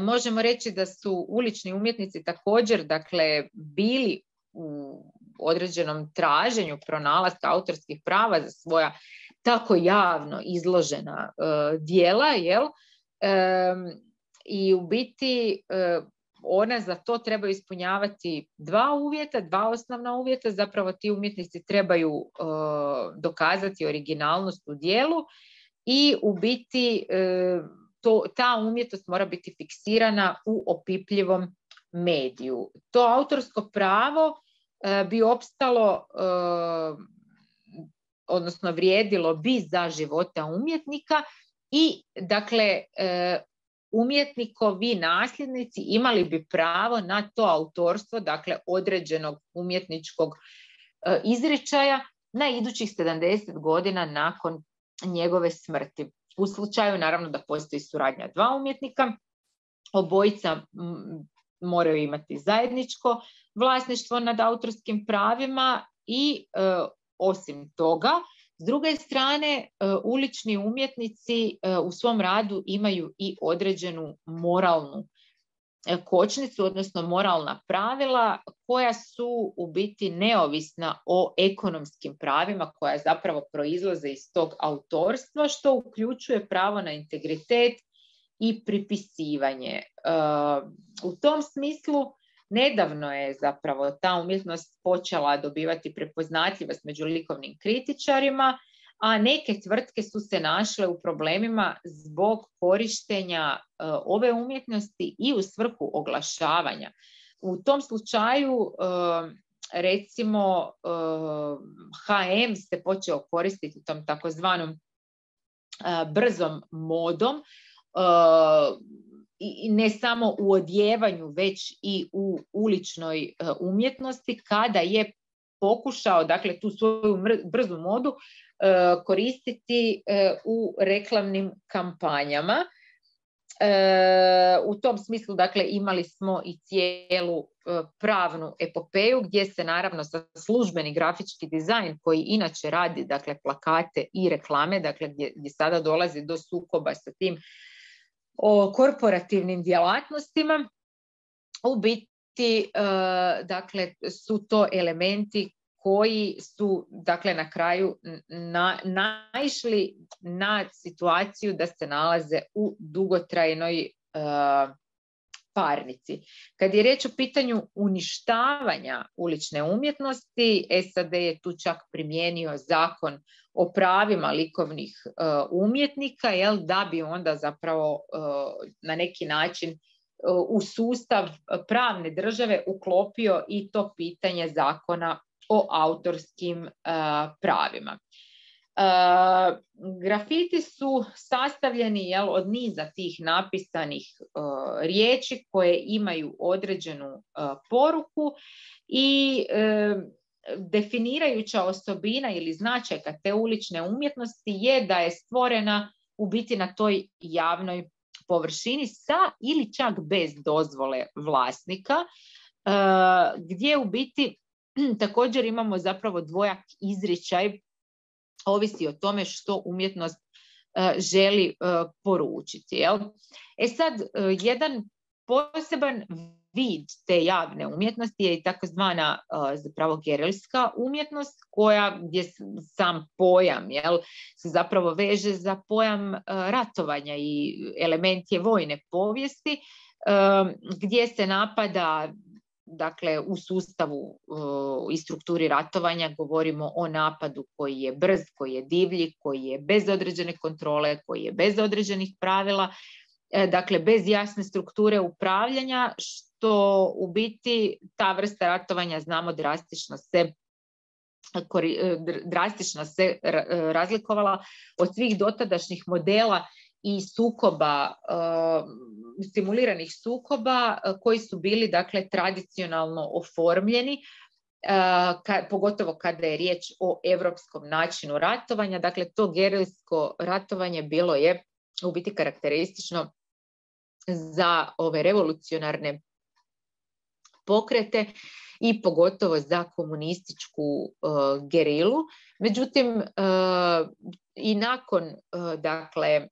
možemo reći da su ulični umjetnici također, dakle, bili u određenom traženju pronalaska autorskih prava za svoja tako javno izložena e, djela, jel? E, i u biti e, ona za to treba ispunjavati dva uvjeta, dva osnovna uvjeta, zapravo ti umjetnici trebaju uh, dokazati originalnost u djelu i u biti uh, to, ta umjetnost mora biti fiksirana u opipljivom mediju. To autorsko pravo uh, bi opstalo, uh, odnosno vrijedilo bi za života umjetnika i dakle uh, umjetnikovi nasljednici imali bi pravo na to autorstvo, dakle određenog umjetničkog e, izričaja na idućih sedamdeset godina nakon njegove smrti. U slučaju naravno da postoji suradnja dva umjetnika, obojica m, moraju imati zajedničko vlasništvo nad autorskim pravima i e, osim toga, s druge strane, ulični umjetnici u svom radu imaju i određenu moralnu kočnicu, odnosno moralna pravila koja su u biti neovisna o ekonomskim pravima koja zapravo proizlaze iz tog autorstva, što uključuje pravo na integritet i pripisivanje. U tom smislu nedavno je zapravo ta umjetnost počela dobivati prepoznatljivost među likovnim kritičarima, a neke tvrtke su se našle u problemima zbog korištenja uh, ove umjetnosti i u svrhu oglašavanja. U tom slučaju, uh, recimo, uh, ha em se počeo koristiti tom takozvanom uh, brzom modom, uh, i ne samo u odjevanju, već i u uličnoj uh, umjetnosti, kada je pokušao, dakle, tu svoju brzu modu uh, koristiti uh, u reklamnim kampanjama. Uh, u tom smislu, dakle, imali smo i cijelu uh, pravnu epopeju gdje se naravno sa službeni grafički dizajn koji inače radi, dakle, plakate i reklame, dakle, gdje, gdje sada dolazi do sukoba sa tim o korporativnim djelatnostima, u biti uh, dakle, su to elementi koji su, dakle, na kraju na, naišli na situaciju da se nalaze u dugotrajnoj uh, parnici. Kad je riječ o pitanju uništavanja ulične umjetnosti, es a de je tu čak primijenio zakon o pravima likovnih uh, umjetnika, jel, da bi onda zapravo uh, na neki način uh, u sustav pravne države uklopio i to pitanje zakona o autorskim uh, pravima. Uh, grafiti su sastavljeni, jel, od niza tih napisanih uh, riječi koje imaju određenu uh, poruku i uh, definirajuća osobina ili značajka te ulične umjetnosti je da je stvorena u biti na toj javnoj površini sa ili čak bez dozvole vlasnika, uh, gdje u biti također imamo zapravo dvojak izričaj, ovisi o tome što umjetnost uh, želi uh, poručiti. Jel? E sad, uh, jedan poseban vid te javne umjetnosti je i takozvana uh, zapravo gerilska umjetnost, koja gdje sam pojam, jel, se zapravo veže za pojam uh, ratovanja i element je vojne povijesti, uh, gdje se napada, dakle, u sustavu uh, i strukturi ratovanja govorimo o napadu koji je brz, koji je divlji, koji je bez određene kontrole, koji je bez određenih pravila, e, dakle bez jasne strukture upravljanja, što u biti ta vrsta ratovanja, znamo, drastično se drastično se razlikovala od svih dotadašnjih modela i sukoba, uh, simuliranih sukoba uh, koji su bili, dakle, tradicionalno oformljeni, uh, ka, pogotovo kada je riječ o europskom načinu ratovanja. Dakle, to gerilsko ratovanje bilo je u biti karakteristično za ove revolucionarne pokrete i pogotovo za komunističku uh, gerilu. Međutim, uh, i nakon uh, dakle,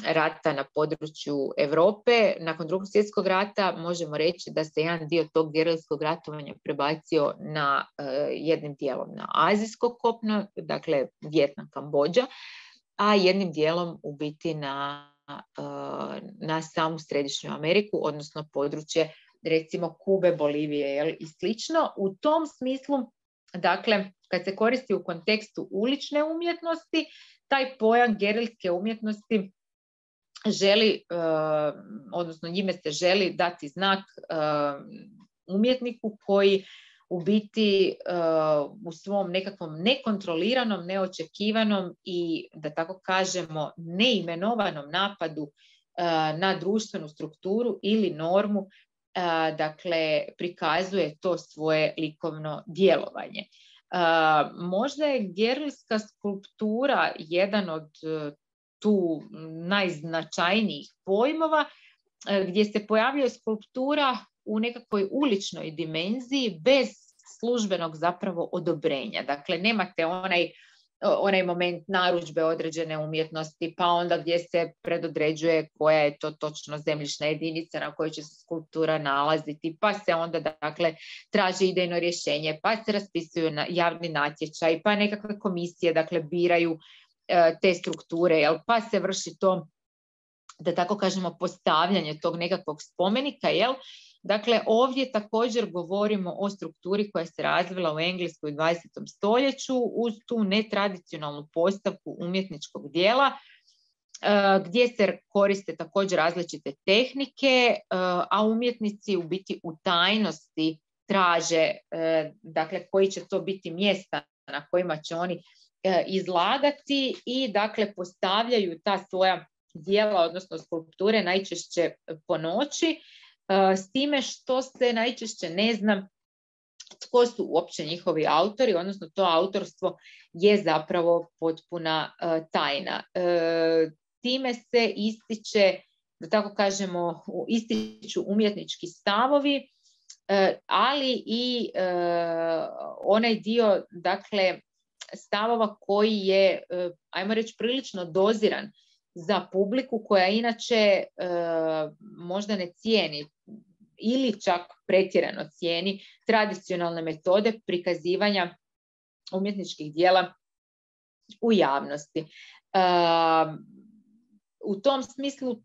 rata na području Europe, nakon Drugog svjetskog rata, možemo reći da se jedan dio tog gerilskog ratovanja prebacio na uh, jednim dijelom na azijsko kopno, dakle Vijetnam, Kambodža, a jednim dijelom u biti na, uh, na samu Središnju Ameriku, odnosno područje recimo Kube, Bolivije, jel, i slično. U tom smislu, dakle, kad se koristi u kontekstu ulične umjetnosti, taj pojam gerilske umjetnosti želi, uh, odnosno njime se želi dati znak uh, umjetniku koji u biti uh, u svom nekakvom nekontroliranom, neočekivanom i, da tako kažemo, neimenovanom napadu uh, na društvenu strukturu ili normu, uh, dakle, prikazuje to svoje likovno djelovanje. Uh, možda je gerilska skulptura jedan od uh, tu najznačajnijih pojmova, uh, gdje se pojavljuje skulptura u nekakvoj uličnoj dimenziji bez službenog zapravo odobrenja. Dakle, nemate onaj onaj moment narudžbe određene umjetnosti, pa onda gdje se predodređuje koja je to točno zemljišna jedinica na kojoj će se skulptura nalaziti, pa se onda dakle traži idejno rješenje, pa se raspisuju na javni natječaj, pa nekakve komisije dakle biraju e, te strukture, jel? Pa se vrši to, da tako kažemo, postavljanje tog nekakvog spomenika, jel? Dakle, ovdje također govorimo o strukturi koja se razvila u Engleskoj u dvadesetom stoljeću uz tu netradicionalnu postavku umjetničkog dijela, gdje se koriste također različite tehnike, a umjetnici u biti u tajnosti traže, dakle, koji će to biti mjesta na kojima će oni izlagati i dakle postavljaju ta svoja dijela, odnosno skulpture, najčešće po noći, s time što se najčešće ne zna tko su uopće njihovi autori, odnosno to autorstvo je zapravo potpuna tajna. Time se ističe, da tako kažemo, ističu umjetnički stavovi, ali i onaj dio, dakle, stavova koji je, ajmo reći, prilično doziran za publiku koja inače možda ne cijeni ili čak pretjerano cijeni tradicionalne metode prikazivanja umjetničkih dijela u javnosti. U tom smislu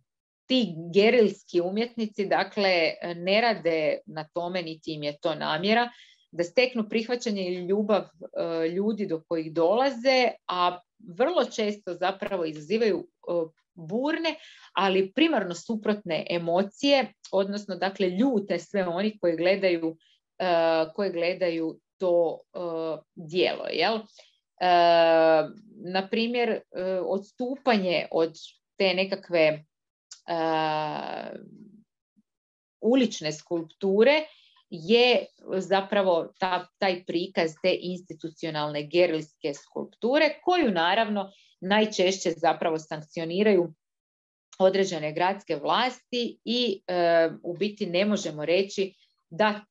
ti gerilski umjetnici, dakle, ne rade na tome, niti im je to namjera, da steknu prihvaćanje ili ljubav ljudi do kojih dolaze, a vrlo često zapravo izazivaju burne, ali primarno suprotne emocije, odnosno dakle ljute sve oni koji gledaju, koji gledaju to djelo. Jel? Na primjer, odstupanje od te nekakve ulične skulpture je zapravo ta, taj prikaz te institucionalne gerilske skulpture, koju naravno najčešće zapravo sankcioniraju određene gradske vlasti i e, u biti ne možemo reći da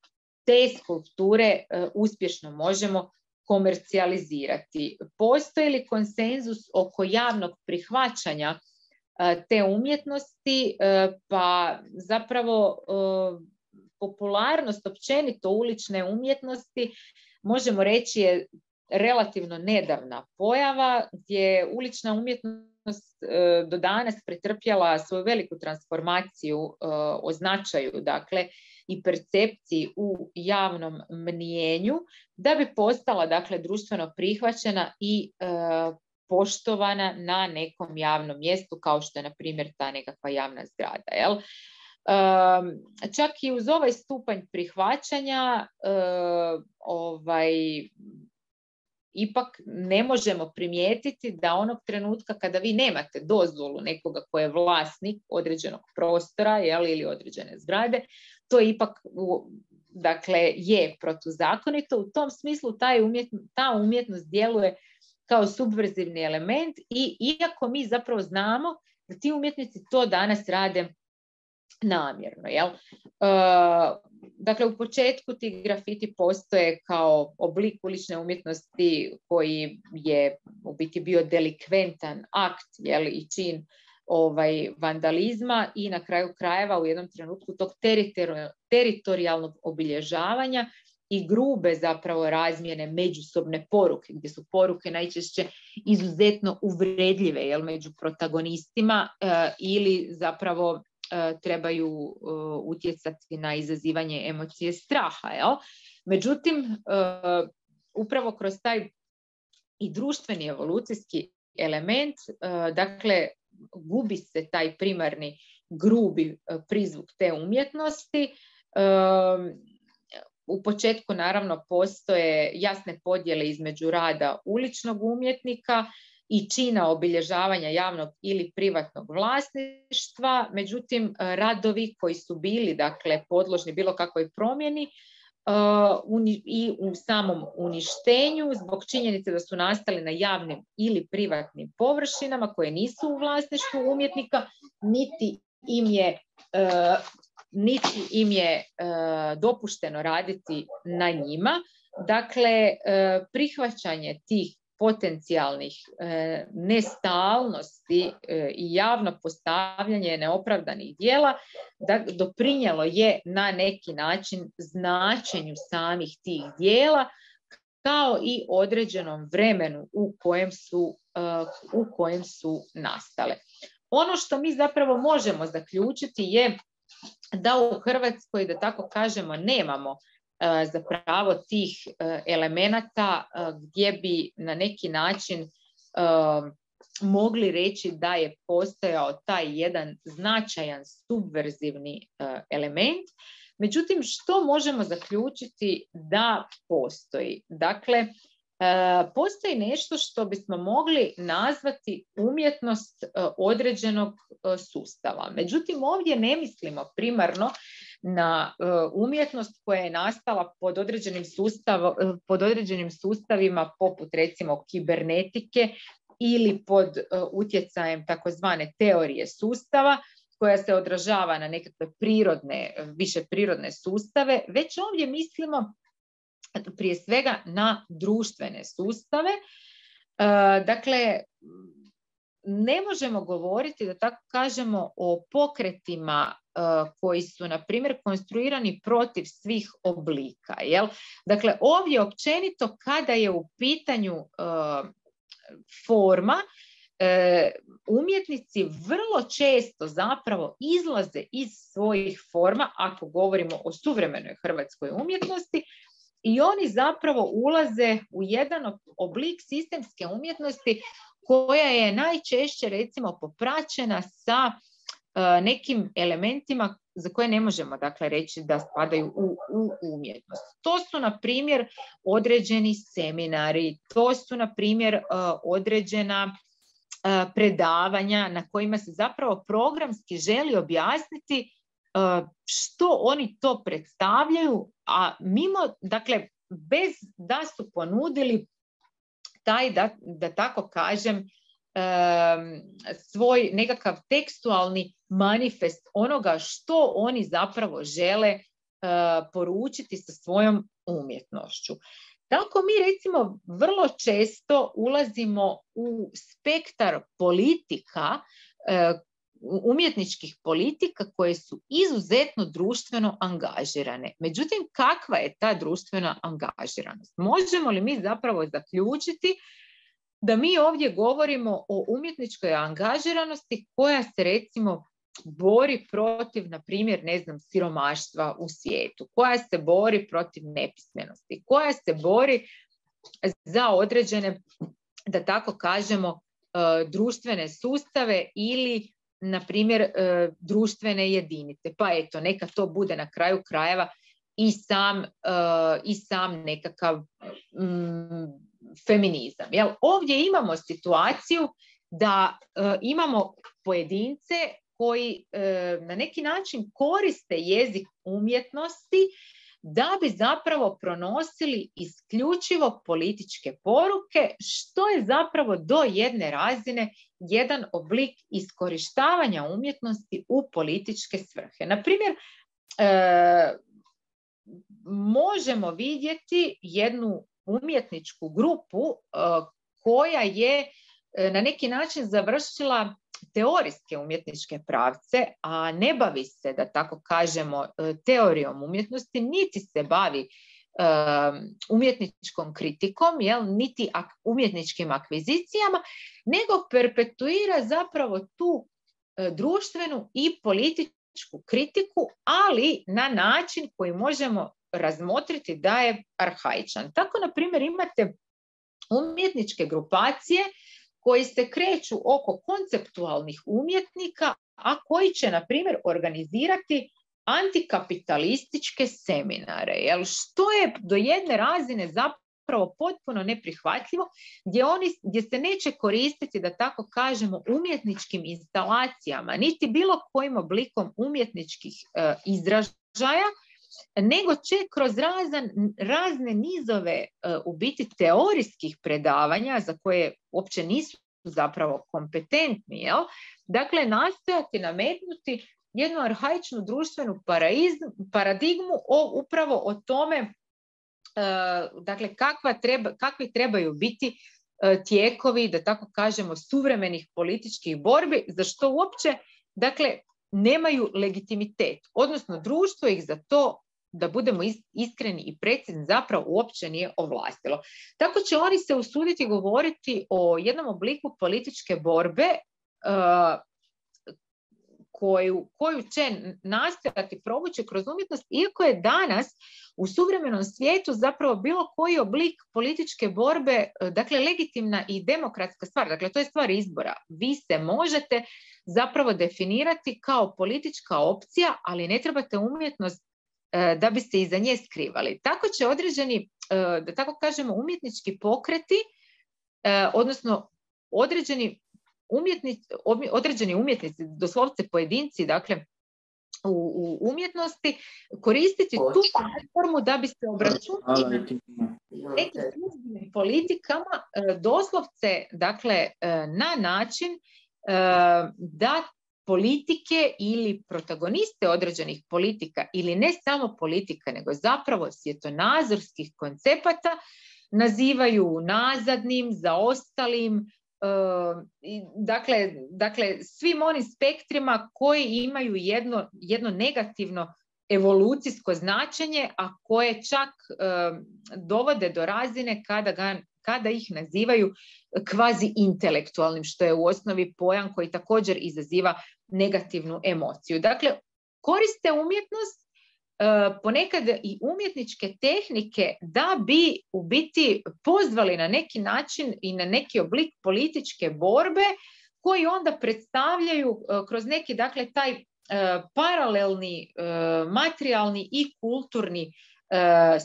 te skulpture e, uspješno možemo komercijalizirati. Postoji li konsenzus oko javnog prihvaćanja e, te umjetnosti? E, pa zapravo e, popularnost općenito ulične umjetnosti, možemo reći, je relativno nedavna pojava, gdje ulična umjetnost e, do danas pretrpjela svoju veliku transformaciju e, o značaju, dakle, i percepciji u javnom mnijenju, da bi postala, dakle, društveno prihvaćena i e, poštovana na nekom javnom mjestu, kao što je, na primjer, ta nekakva javna zgrada, jel? Um, čak i uz ovaj stupanj prihvaćanja uh, ovaj, ipak ne možemo primijetiti da onog trenutka kada vi nemate dozvolu nekoga ko je vlasnik određenog prostora, jel, ili određene zgrade, to ipak dakle, je protuzakonito. U tom smislu taj umjetno, ta umjetnost djeluje kao subverzivni element i iako mi zapravo znamo da ti umjetnici to danas rade namjerno. Jel? E, dakle, u početku ti grafiti postoje kao oblik ulične umjetnosti koji je u biti bio delikventan akt, jel, i čin ovaj, vandalizma i na kraju krajeva u jednom trenutku tog teritori- teritorijalnog obilježavanja i grube zapravo razmjene međusobne poruke, gdje su poruke najčešće izuzetno uvredljive, jel, među protagonistima e, ili zapravo trebaju uh, utjecati na izazivanje emocije straha. Jel? Međutim, uh, upravo kroz taj i društveni evolucijski element, uh, dakle, gubi se taj primarni grubi uh, prizvuk te umjetnosti. Uh, u početku naravno postoje jasne podjele između rada uličnog umjetnika i čina obilježavanja javnog ili privatnog vlasništva, međutim radovi koji su bili, dakle, podložni bilo kakvoj promjeni uh, i u samom uništenju zbog činjenice da su nastali na javnim ili privatnim površinama koje nisu u vlasništvu umjetnika, niti im je, uh, niti im je uh, dopušteno raditi na njima. Dakle, uh, prihvaćanje tih potencijalnih e, nestalnosti e, i javno postavljanje neopravdanih dijela da doprinijelo je na neki način značenju samih tih dijela kao i određenom vremenu u kojem su, uh, u kojem su nastale. Ono što mi zapravo možemo zaključiti je da u Hrvatskoj, da tako kažemo, nemamo uh, zapravo tih uh, elemenata uh, gdje bi na neki način uh, mogli reći da je postojao taj jedan značajan subverzivni uh, element. Međutim, što možemo zaključiti da postoji? Dakle, postoji nešto što bismo mogli nazvati umjetnost određenog sustava. Međutim, ovdje ne mislimo primarno na umjetnost koja je nastala pod određenim, sustav, pod određenim sustavima poput recimo kibernetike ili pod utjecajem takozvane teorije sustava, koja se odražava na nekakve prirodne, više prirodne sustave, već ovdje mislimo prije svega na društvene sustave. E, dakle, ne možemo govoriti, da tako kažemo, o pokretima e, koji su, na primjer, konstruirani protiv svih oblika. Jel? Dakle, ovdje općenito kada je u pitanju e, forma, E, umjetnici vrlo često zapravo izlaze iz svojih forma, ako govorimo o suvremenoj hrvatskoj umjetnosti, i oni zapravo ulaze u jedan oblik sistemske umjetnosti koja je najčešće recimo popraćena sa e, nekim elementima za koje ne možemo dakle reći da spadaju u, u umjetnost. To su na primjer određeni seminari, to su na primjer e, određena predavanja na kojima se zapravo programski želi objasniti što oni to predstavljaju, a mimo, dakle, bez da su ponudili taj, da, da tako kažem, svoj nekakav tekstualni manifest onoga što oni zapravo žele poručiti sa svojom umjetnošću. Tako mi recimo vrlo često ulazimo u spektar politika, umjetničkih politika koje su izuzetno društveno angažirane. Međutim, kakva je ta društvena angažiranost? Možemo li mi zapravo zaključiti da mi ovdje govorimo o umjetničkoj angažiranosti koja se recimo bori protiv, na primjer, ne znam, siromaštva u svijetu, koja se bori protiv nepismenosti, koja se bori za određene, da tako kažemo, društvene sustave ili, na primjer, društvene jedinice. Pa eto, neka to bude na kraju krajeva i sam, i sam nekakav mm, feminizam. Jel? Ovdje imamo situaciju da imamo pojedince koji e, na neki način koriste jezik umjetnosti da bi zapravo pronosili isključivo političke poruke, što je zapravo do jedne razine jedan oblik iskorištavanja umjetnosti u političke svrhe. Na primjer, e, možemo vidjeti jednu umjetničku grupu e, koja je e, na neki način završila teorijske umjetničke pravce, a ne bavi se, da tako kažemo, teorijom umjetnosti, niti se bavi um, umjetničkom kritikom, jel, niti ak- umjetničkim akvizicijama, nego perpetuira zapravo tu uh, društvenu i političku kritiku, ali na način koji možemo razmotriti da je arhaičan. Tako, na primjer, imate umjetničke grupacije koji se kreću oko konceptualnih umjetnika, a koji će, na primjer, organizirati antikapitalističke seminare, jel, što je do jedne razine zapravo potpuno neprihvatljivo, gdje, oni, gdje se neće koristiti, da tako kažemo, umjetničkim instalacijama, niti bilo kojim oblikom umjetničkih e, izražaja, nego će kroz razan, razne nizove uh, u biti teorijskih predavanja za koje uopće nisu zapravo kompetentni, jel? Dakle, nastojati nametnuti jednu arhaičnu društvenu paradigmu o, upravo o tome uh, dakle, kakva treba, kakvi trebaju biti tijekovi, da tako kažemo, suvremenih političkih borbi, za što uopće, dakle, nemaju legitimitet, odnosno društvo ih za to, da budemo iskreni i precizni, zapravo uopće nije ovlastilo. Tako će oni se usuditi govoriti o jednom obliku političke borbe uh, koju, koju će nastojati provući kroz umjetnost, iako je danas u suvremenom svijetu zapravo bilo koji oblik političke borbe, dakle, legitimna i demokratska stvar. Dakle, to je stvar izbora. Vi se možete zapravo definirati kao politička opcija, ali ne trebate umjetnost da biste iza nje skrivali. Tako će određeni, da tako kažemo, umjetnički pokreti, odnosno određeni umjetnici, određeni umjetnici, doslovce pojedinci, dakle, u, u umjetnosti, koristiti tu platformu da bi se obračunali nekim službenim politikama, doslovce, dakle, na način da politike ili protagoniste određenih politika, ili ne samo politika, nego zapravo svjetonazorskih koncepata, nazivaju nazadnim, zaostalim, dakle, dakle svim onim spektrima koji imaju jedno, jedno negativno evolucijsko značenje, a koje čak dovode do razine kada ga kada ih nazivaju kvazi intelektualnim, što je u osnovi pojam koji također izaziva negativnu emociju. Dakle, koriste umjetnost, ponekad i umjetničke tehnike, da bi u biti pozvali na neki način i na neki oblik političke borbe, koji onda predstavljaju kroz neki, dakle, taj paralelni materijalni i kulturni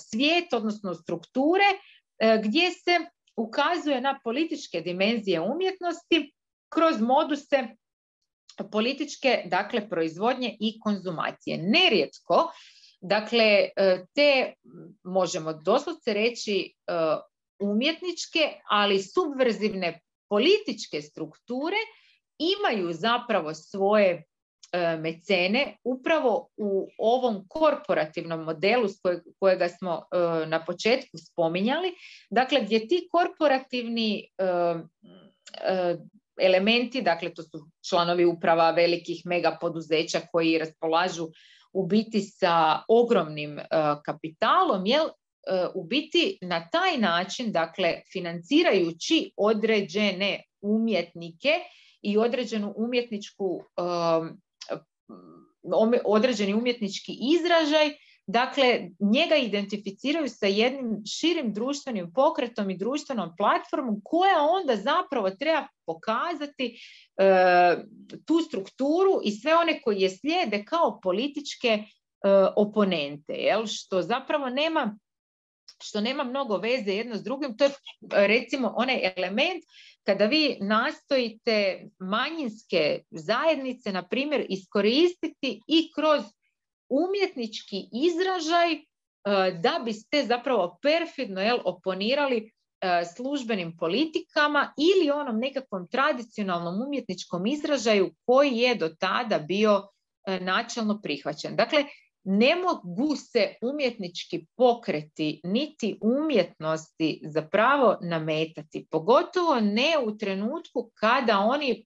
svijet, odnosno strukture, gdje se ukazuje na političke dimenzije umjetnosti kroz moduse političke, dakle, proizvodnje i konzumacije. Nerijetko, dakle, te, možemo doslovce reći, umjetničke, ali subverzivne političke strukture imaju zapravo svoje mecene upravo u ovom korporativnom modelu kojega smo na početku spominjali, dakle, gdje ti korporativni elementi, dakle, to su članovi uprava velikih mega poduzeća koji raspolažu u biti sa ogromnim kapitalom, jel, u biti na taj način, dakle, financirajući određene umjetnike i određenu umjetničku određeni umjetnički izražaj, dakle, njega identificiraju sa jednim širim društvenim pokretom i društvenom platformom, koja onda zapravo treba pokazati e, tu strukturu i sve one koji je slijede kao političke e, oponente, jel? Što zapravo nema što nema mnogo veze jedno s drugim. To je, recimo, onaj element kada vi nastojite manjinske zajednice, na primjer, iskoristiti i kroz umjetnički izražaj da biste zapravo perfidno, jel, oponirali službenim politikama ili onom nekakvom tradicionalnom umjetničkom izražaju koji je do tada bio načelno prihvaćen. Dakle, ne mogu se umjetnički pokreti niti umjetnosti zapravo nametati, pogotovo ne u trenutku kada oni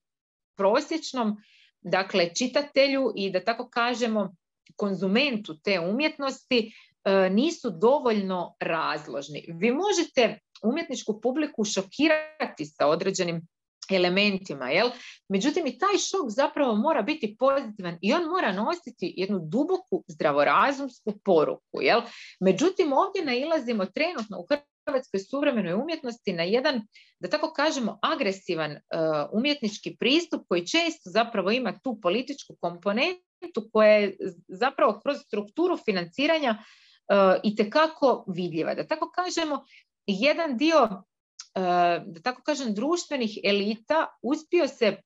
prosječnom, dakle, čitatelju i, da tako kažemo, konzumentu te umjetnosti nisu dovoljno razložni. Vi možete umjetničku publiku šokirati sa određenim elementima, jel? Međutim, i taj šok zapravo mora biti pozitivan i on mora nositi jednu duboku zdravorazumsku poruku, jel? Međutim, ovdje nailazimo trenutno u hrvatskoj suvremenoj umjetnosti na jedan, da tako kažemo, agresivan uh, umjetnički pristup koji često zapravo ima tu političku komponentu koja je zapravo kroz strukturu financiranja uh, itekako vidljiva. Da tako kažemo, jedan dio da tako kažem, društvenih elita uspio se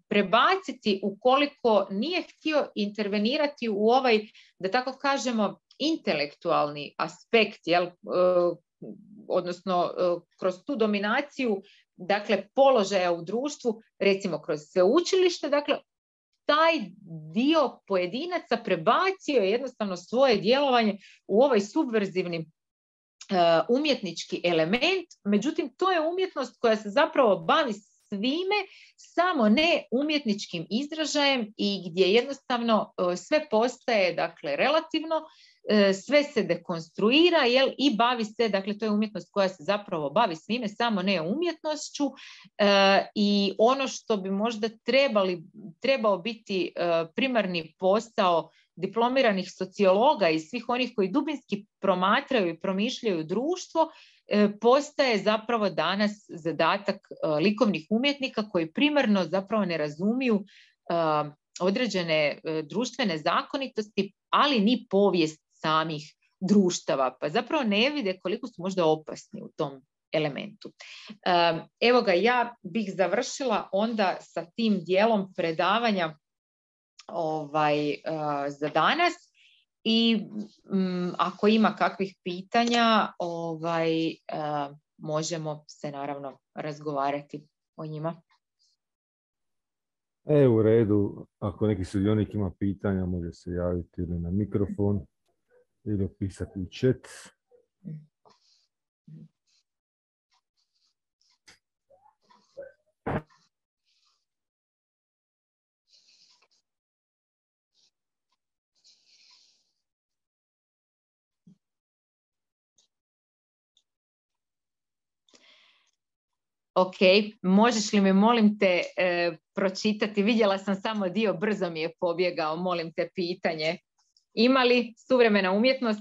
prebaciti ukoliko nije htio intervenirati u ovaj, da tako kažemo, intelektualni aspekt, jel, odnosno kroz tu dominaciju, dakle, položaja u društvu, recimo kroz sveučilište, dakle, taj dio pojedinaca prebacio je jednostavno svoje djelovanje u ovaj subverzivni umjetnički element, međutim to je umjetnost koja se zapravo bavi svime, samo ne umjetničkim izražajem i gdje jednostavno sve postaje, dakle, relativno, sve se dekonstruira, jel, i bavi se, dakle, to je umjetnost koja se zapravo bavi svime, samo ne umjetnošću, e, i ono što bi možda trebali, trebao biti e, primarni posao diplomiranih sociologa i svih onih koji dubinski promatraju i promišljaju društvo, e, postaje zapravo danas zadatak e, likovnih umjetnika koji primarno zapravo ne razumiju e, određene e, društvene zakonitosti, ali ni povijest samih društava, pa zapravo ne vide koliko su možda opasni u tom elementu. Evo ga, ja bih završila onda sa tim dijelom predavanja ovaj, za danas i m, ako ima kakvih pitanja, ovaj, možemo se naravno razgovarati o njima. E, u redu, ako neki sudionik ima pitanja, može se javiti ili na mikrofon ili opisati u chat. Ok, možeš li mi, molim te, e, pročitati? Vidjela sam samo dio, brzo mi je pobjegao, molim te, pitanje. Ima li suvremena umjetnost?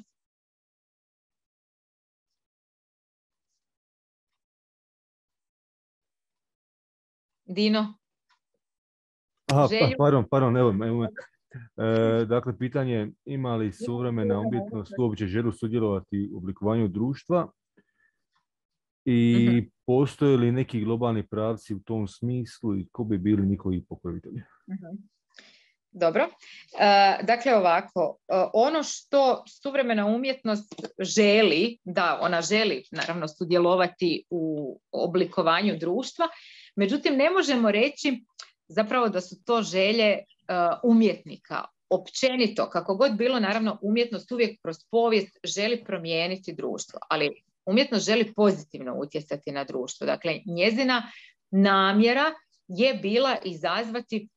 Dino? Aha, pa, pardon, pardon, evo, evo e, dakle, pitanje, ima li suvremena umjetnost uopće želu sudjelovati u oblikovanju društva i uh-huh. postoje li neki globalni pravci u tom smislu i ko bi bili njihovi pokrovitelji? Uh-huh. Dobro. E, dakle, ovako, e, ono što suvremena umjetnost želi, da, ona želi naravno sudjelovati u oblikovanju društva, međutim ne možemo reći zapravo da su to želje e, umjetnika. Općenito, kako god bilo, naravno umjetnost uvijek kroz povijest želi promijeniti društvo, ali umjetnost želi pozitivno utjecati na društvo. Dakle, njezina namjera je bila izazvati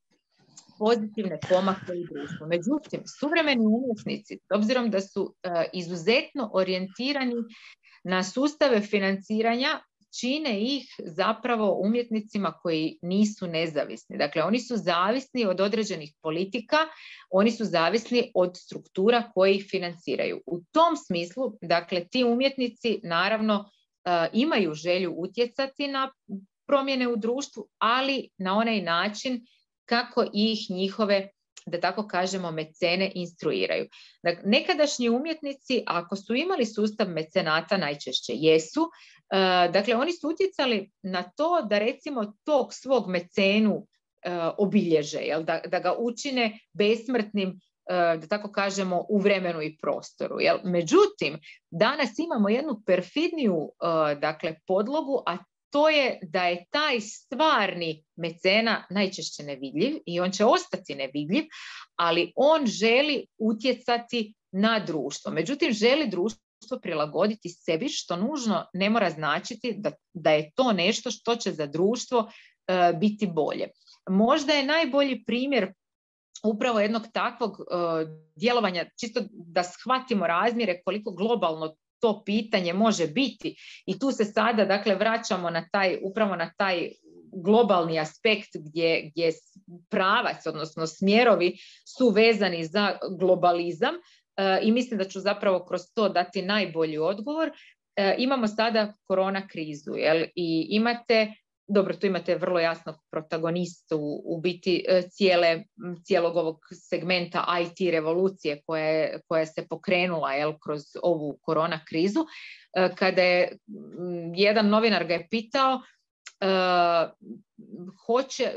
pozitivne pomake u društvu. Međutim, suvremeni umjetnici, s obzirom da su uh, izuzetno orijentirani na sustave financiranja, čine ih zapravo umjetnicima koji nisu nezavisni. Dakle, oni su zavisni od određenih politika, oni su zavisni od struktura koji ih financiraju. U tom smislu, dakle, ti umjetnici naravno uh, imaju želju utjecati na promjene u društvu, ali na onaj način kako ih njihove, da tako kažemo, mecene instruiraju. Dakle, nekadašnji umjetnici, ako su imali sustav mecenata, najčešće jesu, uh, dakle, oni su utjecali na to da recimo tog svog mecenu uh, obilježe, jel? Da, da ga učine besmrtnim, uh, da tako kažemo, u vremenu i prostoru. Jel? Međutim, danas imamo jednu perfidniju uh, dakle, podlogu, a to je da je taj stvarni mecena najčešće nevidljiv i on će ostati nevidljiv, ali on želi utjecati na društvo. Međutim, želi društvo prilagoditi sebi, što nužno ne mora značiti da, da je to nešto što će za društvo uh, biti bolje. Možda je najbolji primjer upravo jednog takvog uh, djelovanja, čisto da shvatimo razmjere koliko globalno to pitanje može biti, i tu se sada, dakle, vraćamo na taj, upravo na taj globalni aspekt gdje, gdje pravac, odnosno smjerovi su vezani za globalizam, e, i mislim da ću zapravo kroz to dati najbolji odgovor. E, imamo sada korona krizu, jel? I imate, dobro, tu imate vrlo jasnog protagonistu u, u biti cijele, cijelog ovog segmenta I T revolucije koja, koja se pokrenula, jel, kroz ovu korona krizu. Kada je jedan novinar ga je pitao uh, hoće,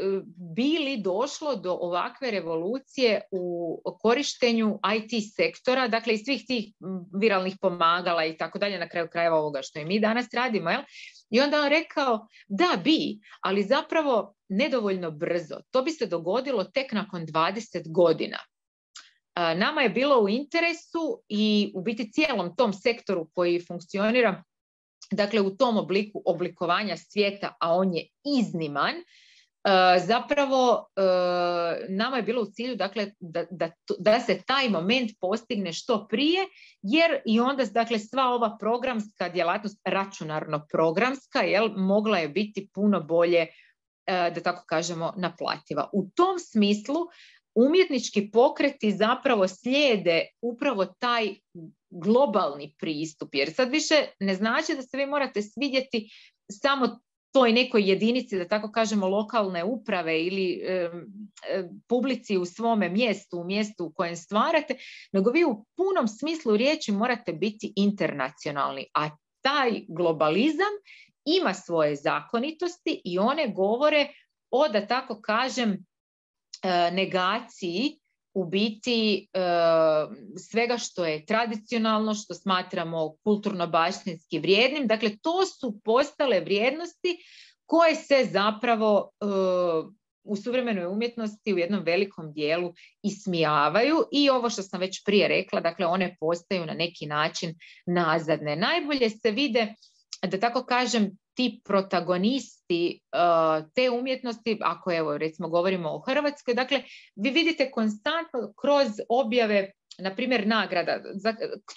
bi li došlo do ovakve revolucije u korištenju I T sektora, dakle i svih tih viralnih pomagala i tako dalje, na kraju krajeva ovoga što i mi danas radimo, jel? I onda on rekao, da bi, ali zapravo nedovoljno brzo. To bi se dogodilo tek nakon dvadeset godina. Nama je bilo u interesu i u biti cijelom tom sektoru koji funkcionira, dakle u tom obliku oblikovanja svijeta, a on je izniman, zapravo nama je bilo u cilju, dakle, da, da, da se taj moment postigne što prije, jer i onda, dakle, sva ova programska djelatnost, računarno-programska, jel, mogla je biti puno bolje, da tako kažemo, naplativa. U tom smislu umjetnički pokreti zapravo slijede upravo taj globalni pristup, jer sad više ne znači da se vi morate svidjeti samo toj nekoj jedinici, da tako kažemo, lokalne uprave ili e, e, publici u svome mjestu, u mjestu u kojem stvarate, nego vi u punom smislu riječi morate biti internacionalni, a taj globalizam ima svoje zakonitosti i one govore o, da tako kažem, e, negaciji u biti e, svega što je tradicionalno, što smatramo kulturno-baštinski vrijednim. Dakle, to su postale vrijednosti koje se zapravo e, u suvremenoj umjetnosti u jednom velikom dijelu ismijavaju i ovo što sam već prije rekla, dakle, one postaju na neki način nazadne. Najbolje se vide, da tako kažem, ti protagonisti uh, te umjetnosti, ako evo recimo govorimo o Hrvatskoj, dakle vi vidite konstantno kroz objave, na primjer, nagrada, za,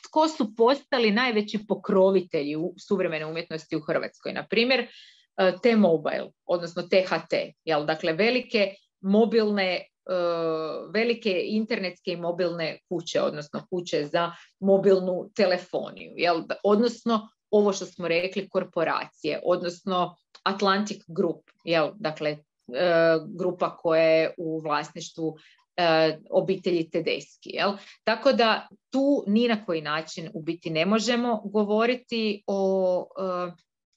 tko su postali najveći pokrovitelji u suvremene umjetnosti u Hrvatskoj. Na primjer, uh, T-Mobile, odnosno T H T, jel? Dakle velike mobilne, uh, velike internetske i mobilne kuće, odnosno kuće za mobilnu telefoniju, jel? Odnosno ovo što smo rekli, korporacije, odnosno Atlantic Group, jel? Dakle, e, grupa koja je u vlasništvu e, obitelji Tedeschi. Jel? Tako da tu ni na koji način u biti ne možemo govoriti o e,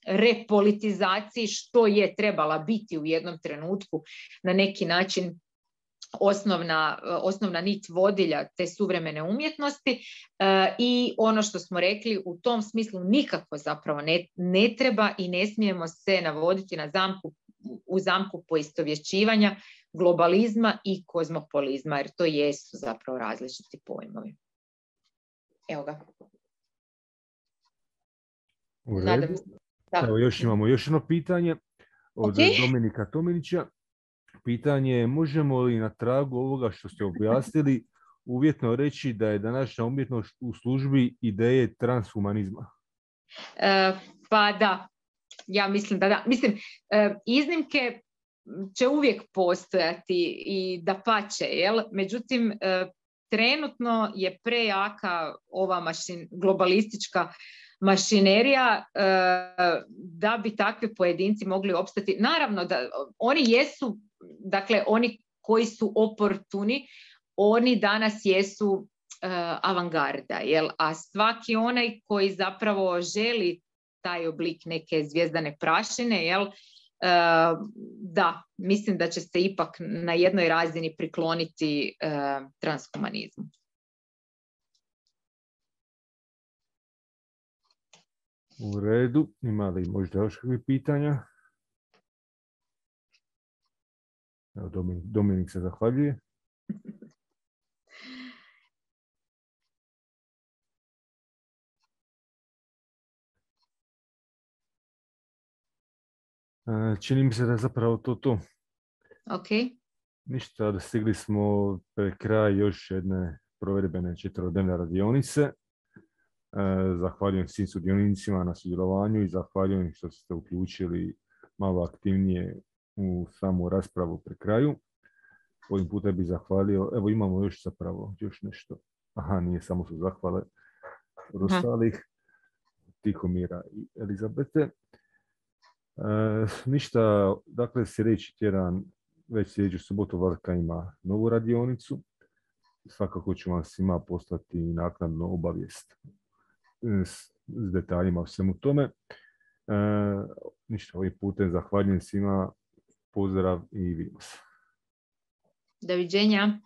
repolitizaciji, što je trebala biti u jednom trenutku na neki način Osnovna, osnovna nit vodilja te suvremene umjetnosti e, i ono što smo rekli, u tom smislu nikako zapravo ne, ne treba i ne smijemo se navoditi na zamku, u zamku poistovjećivanja globalizma i kozmopolizma, jer to jesu zapravo različiti pojmovi. Evo ga. U redu. Evo, još imamo još jedno pitanje od okay. Dominika Tominića. Pitanje je, možemo li na tragu ovoga što ste objasnili uvjetno reći da je današnja umjetnost u službi ideje transhumanizma? E, pa da, ja mislim da da. Mislim, e, iznimke će uvijek postojati i dapače, jel? Međutim, e, trenutno je prejaka ova mašin, globalistička mašinerija e, da bi takvi pojedinci mogli opstati. Naravno da oni jesu, dakle oni koji su oportuni, oni danas jesu uh, avangarda, jel? A svaki onaj koji zapravo želi taj oblik neke zvijezdane prašine, jel? Uh, da, mislim da će se ipak na jednoj razini prikloniti uh, transhumanizmu. U redu, ima li možda još kakvih pitanja? Evo, Dominik, Dominik se zahvaljuje. Čini mi se da je zapravo to to. Ok. Ništa, da stigli smo pred kraj još jedne provedbene četverodnevne radionice. Zahvaljujem svim sudionicima na sudjelovanju i zahvaljujem što ste uključili malo aktivnije u samu raspravu pri kraju. Ovim putem bih zahvalio, evo imamo još zapravo još nešto. Aha, nije samo su zahvale ostalih, Tihomira i Elizabete. E, ništa, dakle sljedeći tjedan, već sljedeću subotu Varka ima novu radionicu. Svakako ću vam svima poslati naknadno obavijest s, s detaljima o svemu tome. E, ništa, ovim putem zahvaljujem svima. Pozdrav i vidimo se. Doviđenja.